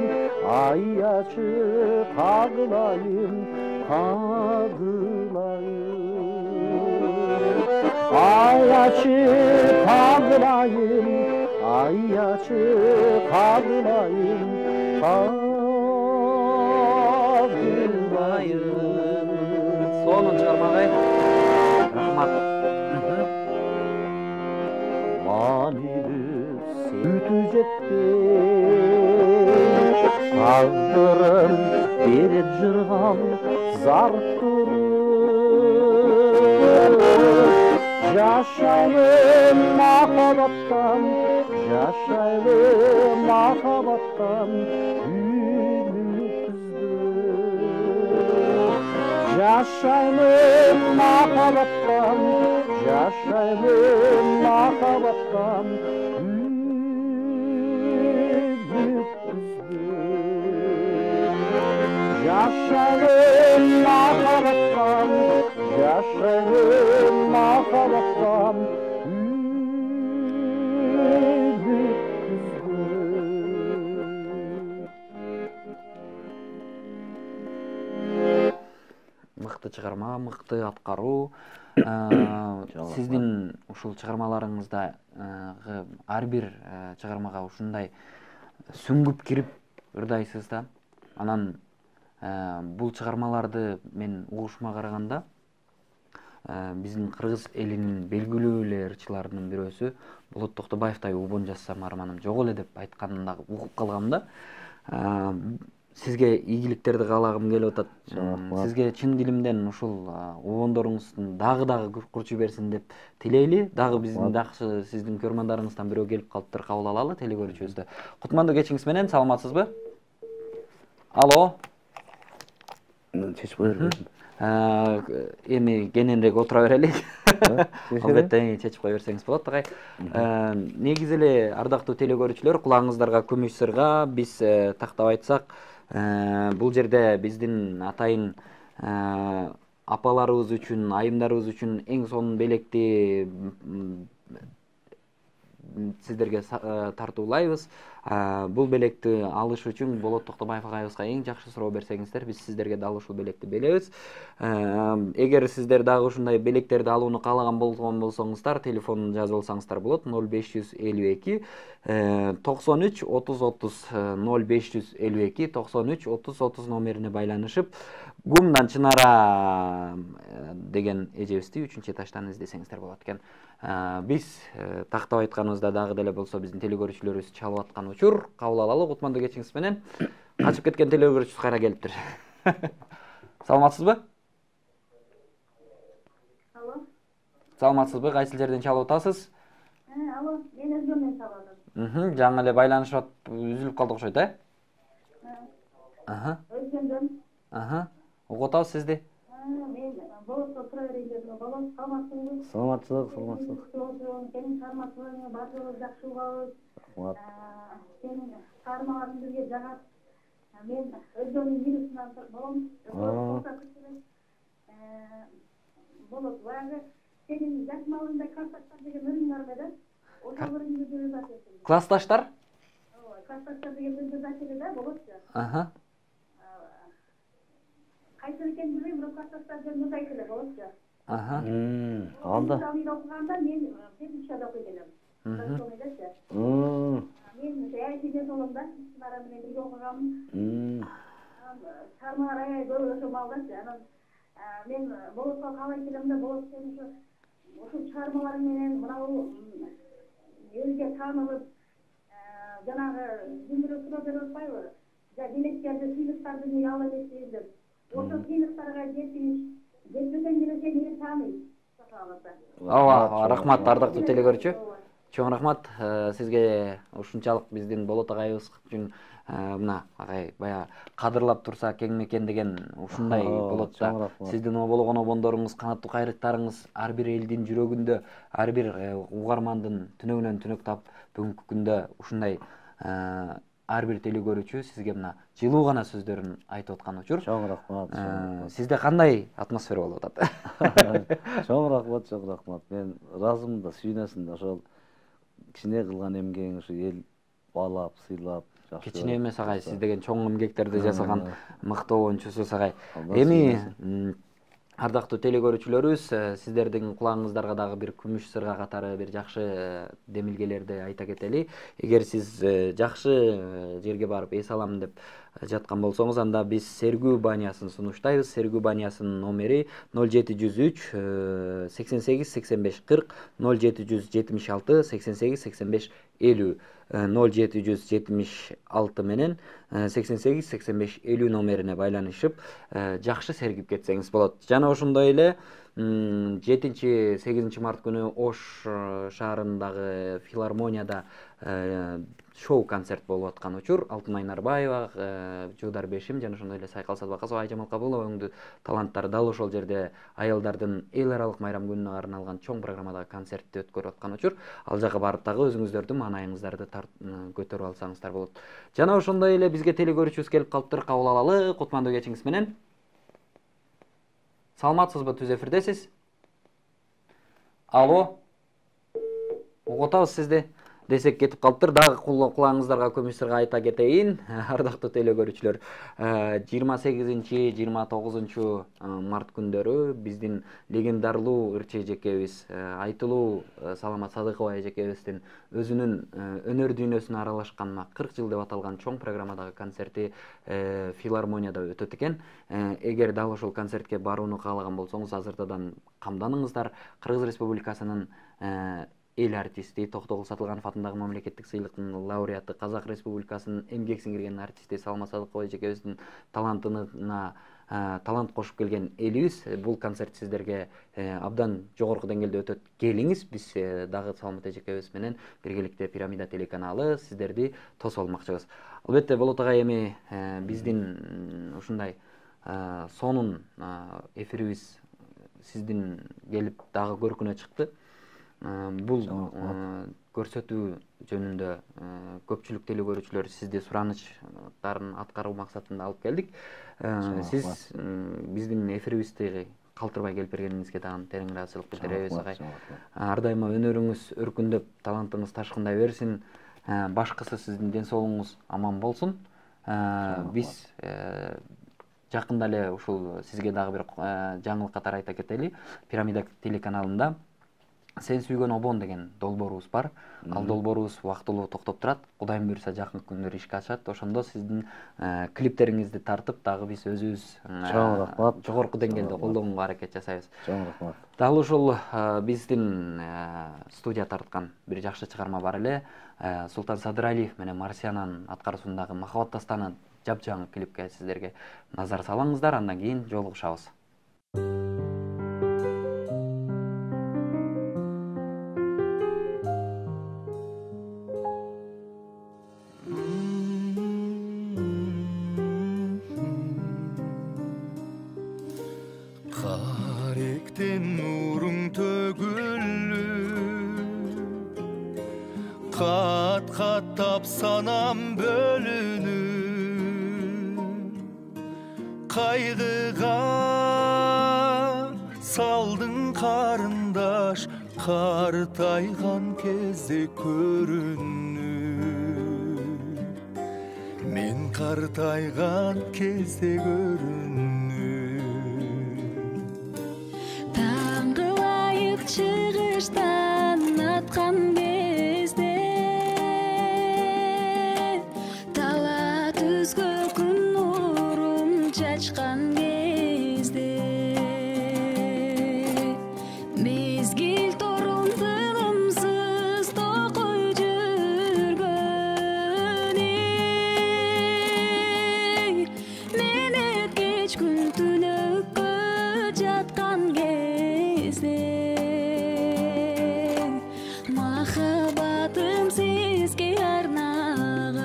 аячы кагылайын, кагылайын. Аячы кагылайын, аячы кагылайын, кагылайын. Сонун чыгармагай. Рахмат. Манилүү сүтү жетпей, тагдырым берет жырган зарттырып. Жашайлы махабаттан, жашайлы махабаттан үмүтсүзбү. Жашайлы махабаттан, жашайлы махабаттан үмүтсүзбү. Жашайлы махабаттан, жашайлы махабаттан Мыкты чыгарма, мыкты аткаруу. Сиздин ушул чыгармаларыңызда ар бир чыгармага ушундай сүңгүп кирип ырдайсыз да. Анан бул чыгармаларды мен угушума караганда биздин кыргыз элинин белгилүү эле ырчыларынын бирөөсү Болот Токтобаевтай убон жазсам арманым жок эле деп айтканын да угуп калгам да. Сизге ийгиликтерди каалагым келип атат. Сизге чын дилимден ушул убондоруңуздун дагы курчу берсин деп тилейли. Дагы биздин жакшы сиздин көрмандарыңыздан бирөө келип калыптыр, кабыл алалы телекөрүүчүбүздө. Кутмандуу кечиңиз менен, саламатсызбы? Алло. Чечип коермун. Эми кененирээк отура берелик. Албетте чечип кое берсеңиз болот агай. Негизи эле ардактуу телекөрүүчүлөр, кулагыңыздарга күмүш сырга биз тактап айтсак, бул жерде биздин атайын апаларыбыз үчүн, айымдарыбыз үчүн эң сонун белекти сиздерге тартуулайбыз. Бул белекти алыш үчүн Болот Токтобаев агайыбызга эң жакшы суроо берсеңиздер, биз сиздерге дал ушул белекти беребиз. Эгер сиздер дагы ушундай белектерди алууну каалаган болгон болсоңуздар, телефонун жазып алсаңыздар болот. 0552 93 30 30 0552 93 30 30 номерине байланышып, Гумдан Чынара деген эжебизди 3-этаждан издесеңиздер болот экен. Биз тактап айтканыбызда дагы деле болсо биздин телекөрүүчүлөрүбүз чалып аткан учур кабыл алалы. Кутмандуу кечиңиз менен. Качып кеткен телекөрүүчүбүз кайра келиптир. Саламатсызбы? Алло. Саламатсызбы? Кайсы жерден чалып атасыз? Алло, мен Өзгөмдөн чалып атам. Жаңы эле байланышып үзүлүп калды окшойт, Өзгөмдөн. Угуп атабыз сизди. Мен Болотто тура берейин дедим. Болот, саламатсызбы? Саламатчылык. Сенин чыгармачылыгыңы баардыгыбыз жакшы угабыз. Сенин чыгармаларың бизге жагат. Мен Өзгөмдүн вирусунан болом. Болот, баягы сенин жаш малыңда классташтар деген өлүң бар да? Ошол өлүңдү деп атасың. Классташтар? Классташтар деген өлүңдү айтылды да, Болотчу. Кайсы экенин билбейм, бирок классташтар деген өлүң айтылды, Болотчу. Анда. Мен окуганда мен педагогикада окуйт элем. Мен саясий болом да, Чынара менен бирге окуганмын. Чыгармалар аябай көп ошол маалдачы. Анан мен Болотко каалайт элем да, Болот сен ушул чыгармаларың менен мынау элге таанылып, жанагы дүндүрө тура берип атпайбы? Демектерди, сыйлыктарды эмне ала элесиз деп. Ошол сыйлыктарга жетпеген келсе мени тааныйт. Ооба, рахмат ардактуу телекөрүүчү. Чоң рахмат сизге ушунчалык биздин Болот агайыбыз үчүн мына агай баягы кадырлап турса кеңме экен деген ушундай болот да. Сиздин обологон обондоруңуз, канаттуу кайрыктарыңыз ар бир элдин жүрөгүндө, ар бир угармандын түнөгүнөн түнөк таап бүгүнкү күндө ушундай ар бир телекөрүүчү сизге мына жылуу гана сөздөрүн айтып аткан учур. Чоң рахмат. Сизде кандай атмосфера болуп атат? Чоң рахмат, чоң рахмат. Мен ыраазымын да, сүйүнөсүн да. Ошол кичине кылган эмгегиң ушу эл баалап, сыйлап, жакшы. Кичине эмес агай, сиз деген чоң эмгектерди жасаган мыктуу обончусуз агай. Эми ардактуу телекөрүүчүлөрүбүз, сиздердин кулагыңыздарга дагы бир күмүш сырга катары бир жакшы демилгелерди айта кетели. Эгер сиз жакшы жерге барып эс алам деп жаткан болсоңуз, анда биз Сергүү банясын сунуштайбыз. Сергүү банясынын номери 0703 88 85 40, 0776 88 85 50, 0776 менен 88 85 50 номерине байланышып жакшы сергип кетсеңиз болот. Жана ошондой эле 7-8 март күнү Ош шаарындагы филармонияда шоу концерт болуп аткан учур. Алтынай Нарбаева, Жуудар Бешим жана ошондой эле Сайкал Садыбакасова, Айжамал Кабылова өңдүү таланттар дал ошол жерде аялдардын эл аралык майрам күнүнө арналган чоң программадагы концертти өткөрүп аткан учур. Ал жака барып дагы өзүңүздөрдүн маанайыңыздарды көтөрүп алсаңыздар болот. Жана ошондой эле бизге телекөрүүчүбүз келип калыптыр. Кабыл алалы. Кутмандуу кечиңиз менен. Саламатсызбы, түз эфирдесиз? Алло. Угутабыз сизди. Десек кетип калыптыр. Дагы кулагыңыздарга күмүш сырга айта кетейин. Ардактуу телекөрүүчүлөр, 28-29 март күндөрү биздин легендарлуу ырчы эжекебиз, айтылуу Саламат Садыкова эжекебиздин өзүнүн өнөр дүйнөсүнө аралашкан 40 жыл деп аталган чоң программадагы концерти филармонияда өтөт экен. Эгер дал ошол концертке барууну каалаган болсоңуз, азыртадан камданыңыздар. Кыргыз Республикасынын эл артисти, Токтогул Сатылганов атындагы мамлекеттик сыйлыктын лауреаты, Казак Республикасынын эмгек сиңирген артисти Саламат Садыкова эжекебиздин талантына талант кошуп келген элибиз. Бул концерт сиздерге абдан жогорку деңгээлде өтөт. Келиңиз, биз дагы Саламат эжекебиз менен биргеликте Пирамида телеканалы сиздерди тосуп алмакчыбыз. Албетте, Болот агай, эми биздин ушундай сонун эфирибиз сиздин келип дагы көркүнө чыкты. Бул көрсөтүү жөнүндө көпчүлүк телекөрүүчүлөр сизди суранычтарын аткаруу максатында алып келдик. Сиз биздин эфирибизди калтырбай келип бергениңизге дагы терең ыраазычылык билдиребиз агай. Ар дайыма өнөрүңүз өркүндөп, талантыңыз ташкындай берсин. Башкысы сиздин ден соолугуңуз аман болсун. Биз жакында эле ушул сизге дагы бир жаңылык катары айта кетели. Пирамида телеканалында Сен сүйгөн обон деген долбоорубуз бар. Ал долбоорубуз убактылуу токтоп турат. Кудайым буйруса жакын күндөрү ишке ашат. Ошондо сиздин клиптериңизди тартып, дагы биз өзүбүз жогорку деңгээлде колдонууга аракет жасайбыз. Чоң рахмат. Дал ушул биздин студия тарткан бир жакшы чыгарма бар эле. Султан Садыралиев менен Марсиянанын аткаруусундагы Махабат дастаны жапжаң клипке сиздерге назар салаңыздар. Андан кийин жолугушабыз. Кат-каттап санам бөлүнүп, кайгыга салдың карындаш, картайган кезде көрүнүп. Мен картайган кезде көрүнүп. Таңгылайып чыгыштан аткан чачкан кезде мезгил торун тынымсыз токой кечкүл түнөккө жаткан кезде махаббатым сизге арнаган.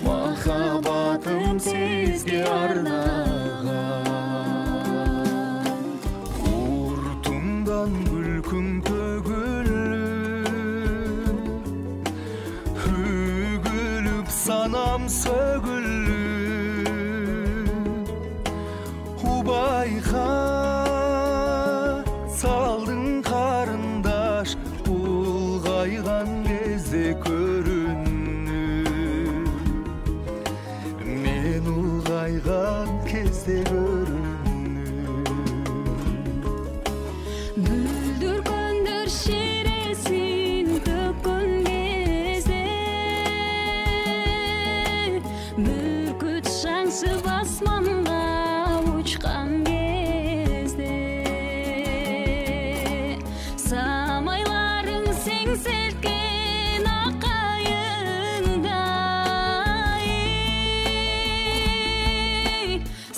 Махаббатым сизге арнаган. Уртуңдан күлкүң төгүлүп, үгүлүп санам сөгүлүп, убайга салдың карындаш, улгайган кезде көрүнүп, мен улгайган кезде көрүнүп. Бүлдүргөндөр шересин төккөн кезде бүркүт шаңшып асманга учкан кезде самайларың сеңселткен акайыңдай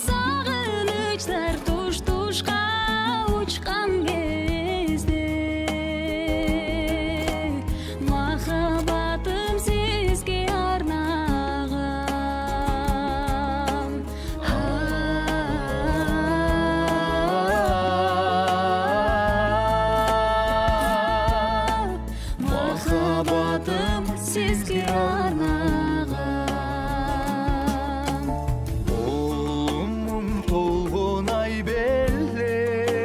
сагынычтар туш-тушка учкан кезде махаббатым сизге арнаган. Махаббатым сизге арнаган. Оолумун толгон ай белең,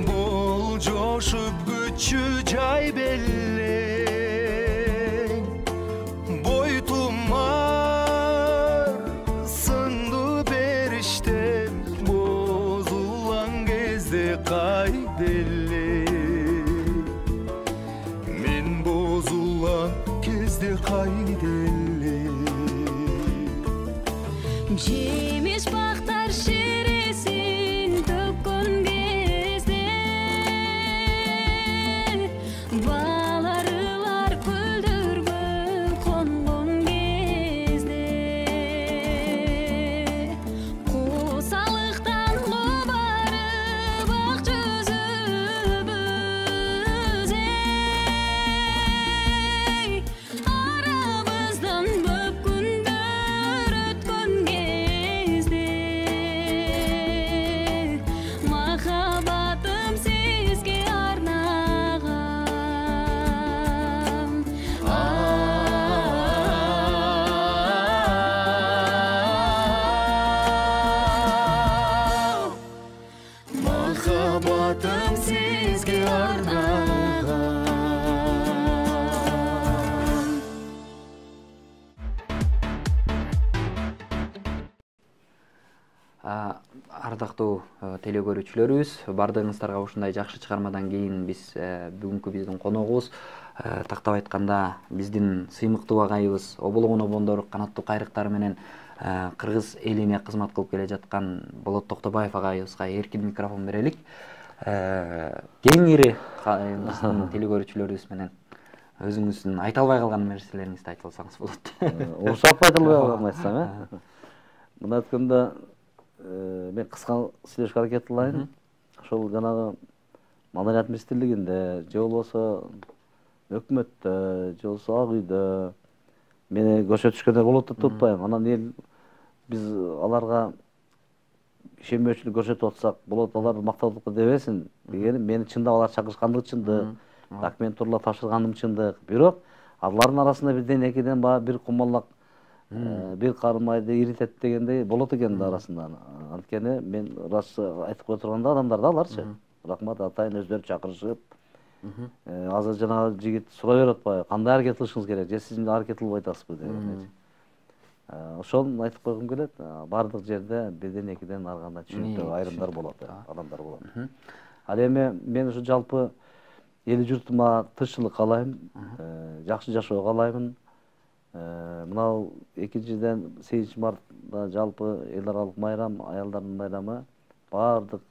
бол жошуп күчү жай белең, бойтумар сынду бериштем, бозулган кезде кайда элең, мен бозулган кезде кайда элең. Жемиш бактар шересин төккөн кезде баларылар күлдүргө конгон кезде косалыктан кубарып ак жүзүбүз арабыздан көп күндөр өткөн кезде махаббатым сизге арнаган. Махаббатым сизге арнаган. Ардактуу телекөрүүчүлөрүбүз, баардыгыңыздарга ушундай жакшы чыгармадан кийин биз бүгүнкү биздин коногубуз тактап айтканда биздин сыймыктуу агайыбыз оболоңун обондор канаттуу кайрыктары менен кыргыз элине кызмат кылып келе жаткан Болот Токтобаев агайыбызга эркин микрофон берелик. Кеңири биздин телекөрүүчүлөрүбүз менен өзүңүздүн айта албай калган нерселериңизди айтып алсаңыз болот. Урушап айта албай калган айтсам, мына өткөндө мен кыска сүйлөшкө аракет кылайын. Ошол жанагы Маданият министрлигинде же болбосо өкмөттө же болбосо Ак үйдө мени көрсөтүшкөндөр болот деп тутпайм. Анан эл биз аларга ишенбөөчүлүк көрсөтүп атсак болот, алар мактаулукка дебесин дегеним, мени чындап алар чакырышкандыгы чындык, документ турула тапшырганым чындык. Бирок алардын арасында бирден экиден баягы бир кумалак бир кармайды иритет дегендей болот экен да арасында. Анткени мен ырасы айтып кое турганда адамдар да аларчы. Рахмат атайын өздөрү чакырышып. Азыр жанагы жигит сурай берип атпайбы, кандай аракет кылышыңыз керек, же сиз аракет кылбай атасызбы деген. Ошону айтып койгум келет. Бардык жерде бирден экиден ар кандай түшүнүктүү айрымдар болот, адамдар болот. Ал эми мен ушу жалпы эл журтума тынччылык каалайм, жакшы жашоо каалаймын. Мынау экинчиден 8 мартта жалпы эл аралык майрам, аялдардын майрамы бардык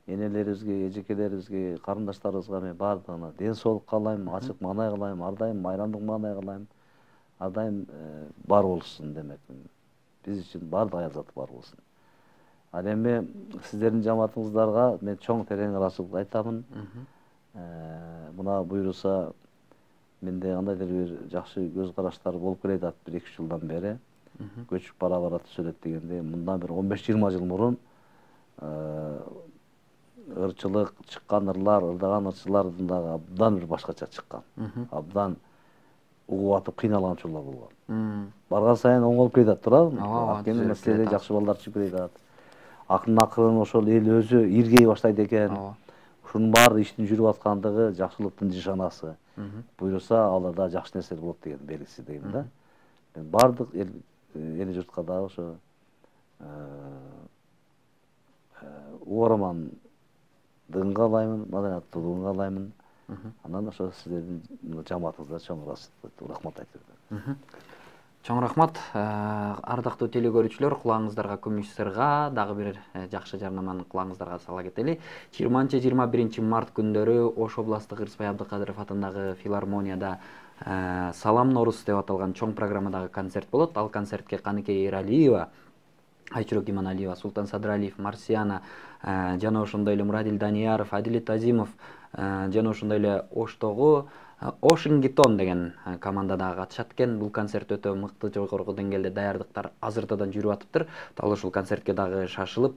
энелерибизге, эжекелерибизге, карындаштарыбызга мен баардыгына ден соолук каалайм, ачык маанай кылайм, ар дайым майрамдык маанай кылайм, ар дайым бар болушун демек. Биз үчүн баардык аялзаты бар болсун. Ал эми сиздердин жамаатыңыздарга мен чоң терең ыраазычылык айтамын. Мына буюрса менде кандайдыр бир жакшы көз караштар болуп келет 1-2 жылдан бери. Көчүп бара түзөлөт дегенде, мындан бир 15-20 жыл мурун ырчылык чыккан ырлар, ырдаган ырчылардын дагы абдан бир башкача чыккан. Абдан угуп атып кыйналган учурлар болгон. Барган сайын оңолуп кетип турабы? Анткени маселеде жакшы балдар чыгып кетип. Акырын ошол эл өзү иргей баштайт экен. Ушунун баары иштин жүрүп аткандыгы жакшылыктын нишанасы. Буюрса аларда жакшы нерселер болот деген белгиси дейм да. Мен бардык эл журтка дагы ошо угармандыгын каалаймын, маданияттуулугун каалаймын. Анан ошо сиздердин жамаатыңызга чоң рахмат айтып атам. Чоң рахмат. Ардактуу телекөрүүчүлөр, кулağыңыздарга күмүш сырга дагы бир жакшы жарнаманы кулağыңыздарга сала кетели. 20-21 март күндөрү Ош областык Ырысбай Абдыкадыров атындагы филармонияда Салам Норус деп аталган чоң программадагы концерт болот. Ал концертке Каныкей Эралиева, Айчурок Иманалиева, Султан Садралиев, Марсиана жана ошондой эле Мурадил Данияров, Адилет Азимов жана ошондой эле Оштогу Ошингтон деген командада катышат экен. Бул концерт өтө мыкты, жогорку деңгээлде даярдыктар азыртадан жүрүп атыптыр. Дал ушул концертке дагы шашылып,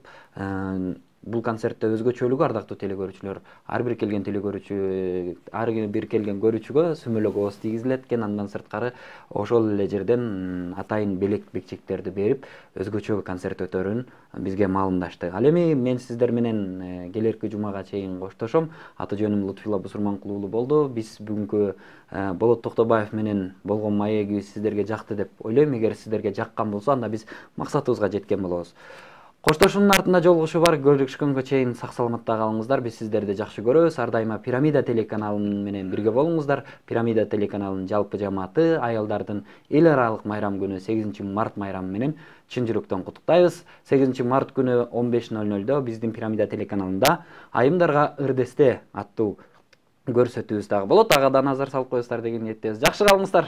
бул концертте өзгөчөлүгү ардактуу телекөрүүчүлөр, ар бир келген көрүүчүгө сүмөлөк ооз тийгизилет экен. Андан сырткары ошол эле жерден атайын белек бекчектерди берип, өзгөчө концерт өтөрүн бизге маалымдашты. Ал эми мен сиздер менен келерки жумага чейин коштошом. Аты жөнүм Лутфулла Бусурманкул уулу болду. Биз бүгүнкү Болот Токтобаев менен болгон маегибиз сиздерге жакты деп ойлойм. Эгер сиздерге жаккан болсо, анда биз максатыбызга жеткен болобуз. Коштошуунун артында жолугушуу бар. Көрүшкөнгө чейин сак саламатта калыңыздар. Биз сиздерди жакшы көрөбүз. Ар дайыма Пирамида телеканалы менен бирге болуңуздар. Пирамида телеканалынын жалпы жамааты аялдардын эл аралык майрам күнү 8 март майрамы менен чын жүрөктөн куттуктайбыз. 8 март күнү 15:00 биздин Пирамида телеканалында Айымдарга ырдесте аттуу көрсөтүүбүз дагы болот. Ага да назар салып коесуздар деген ниеттебиз. Жакшы калыңыздар.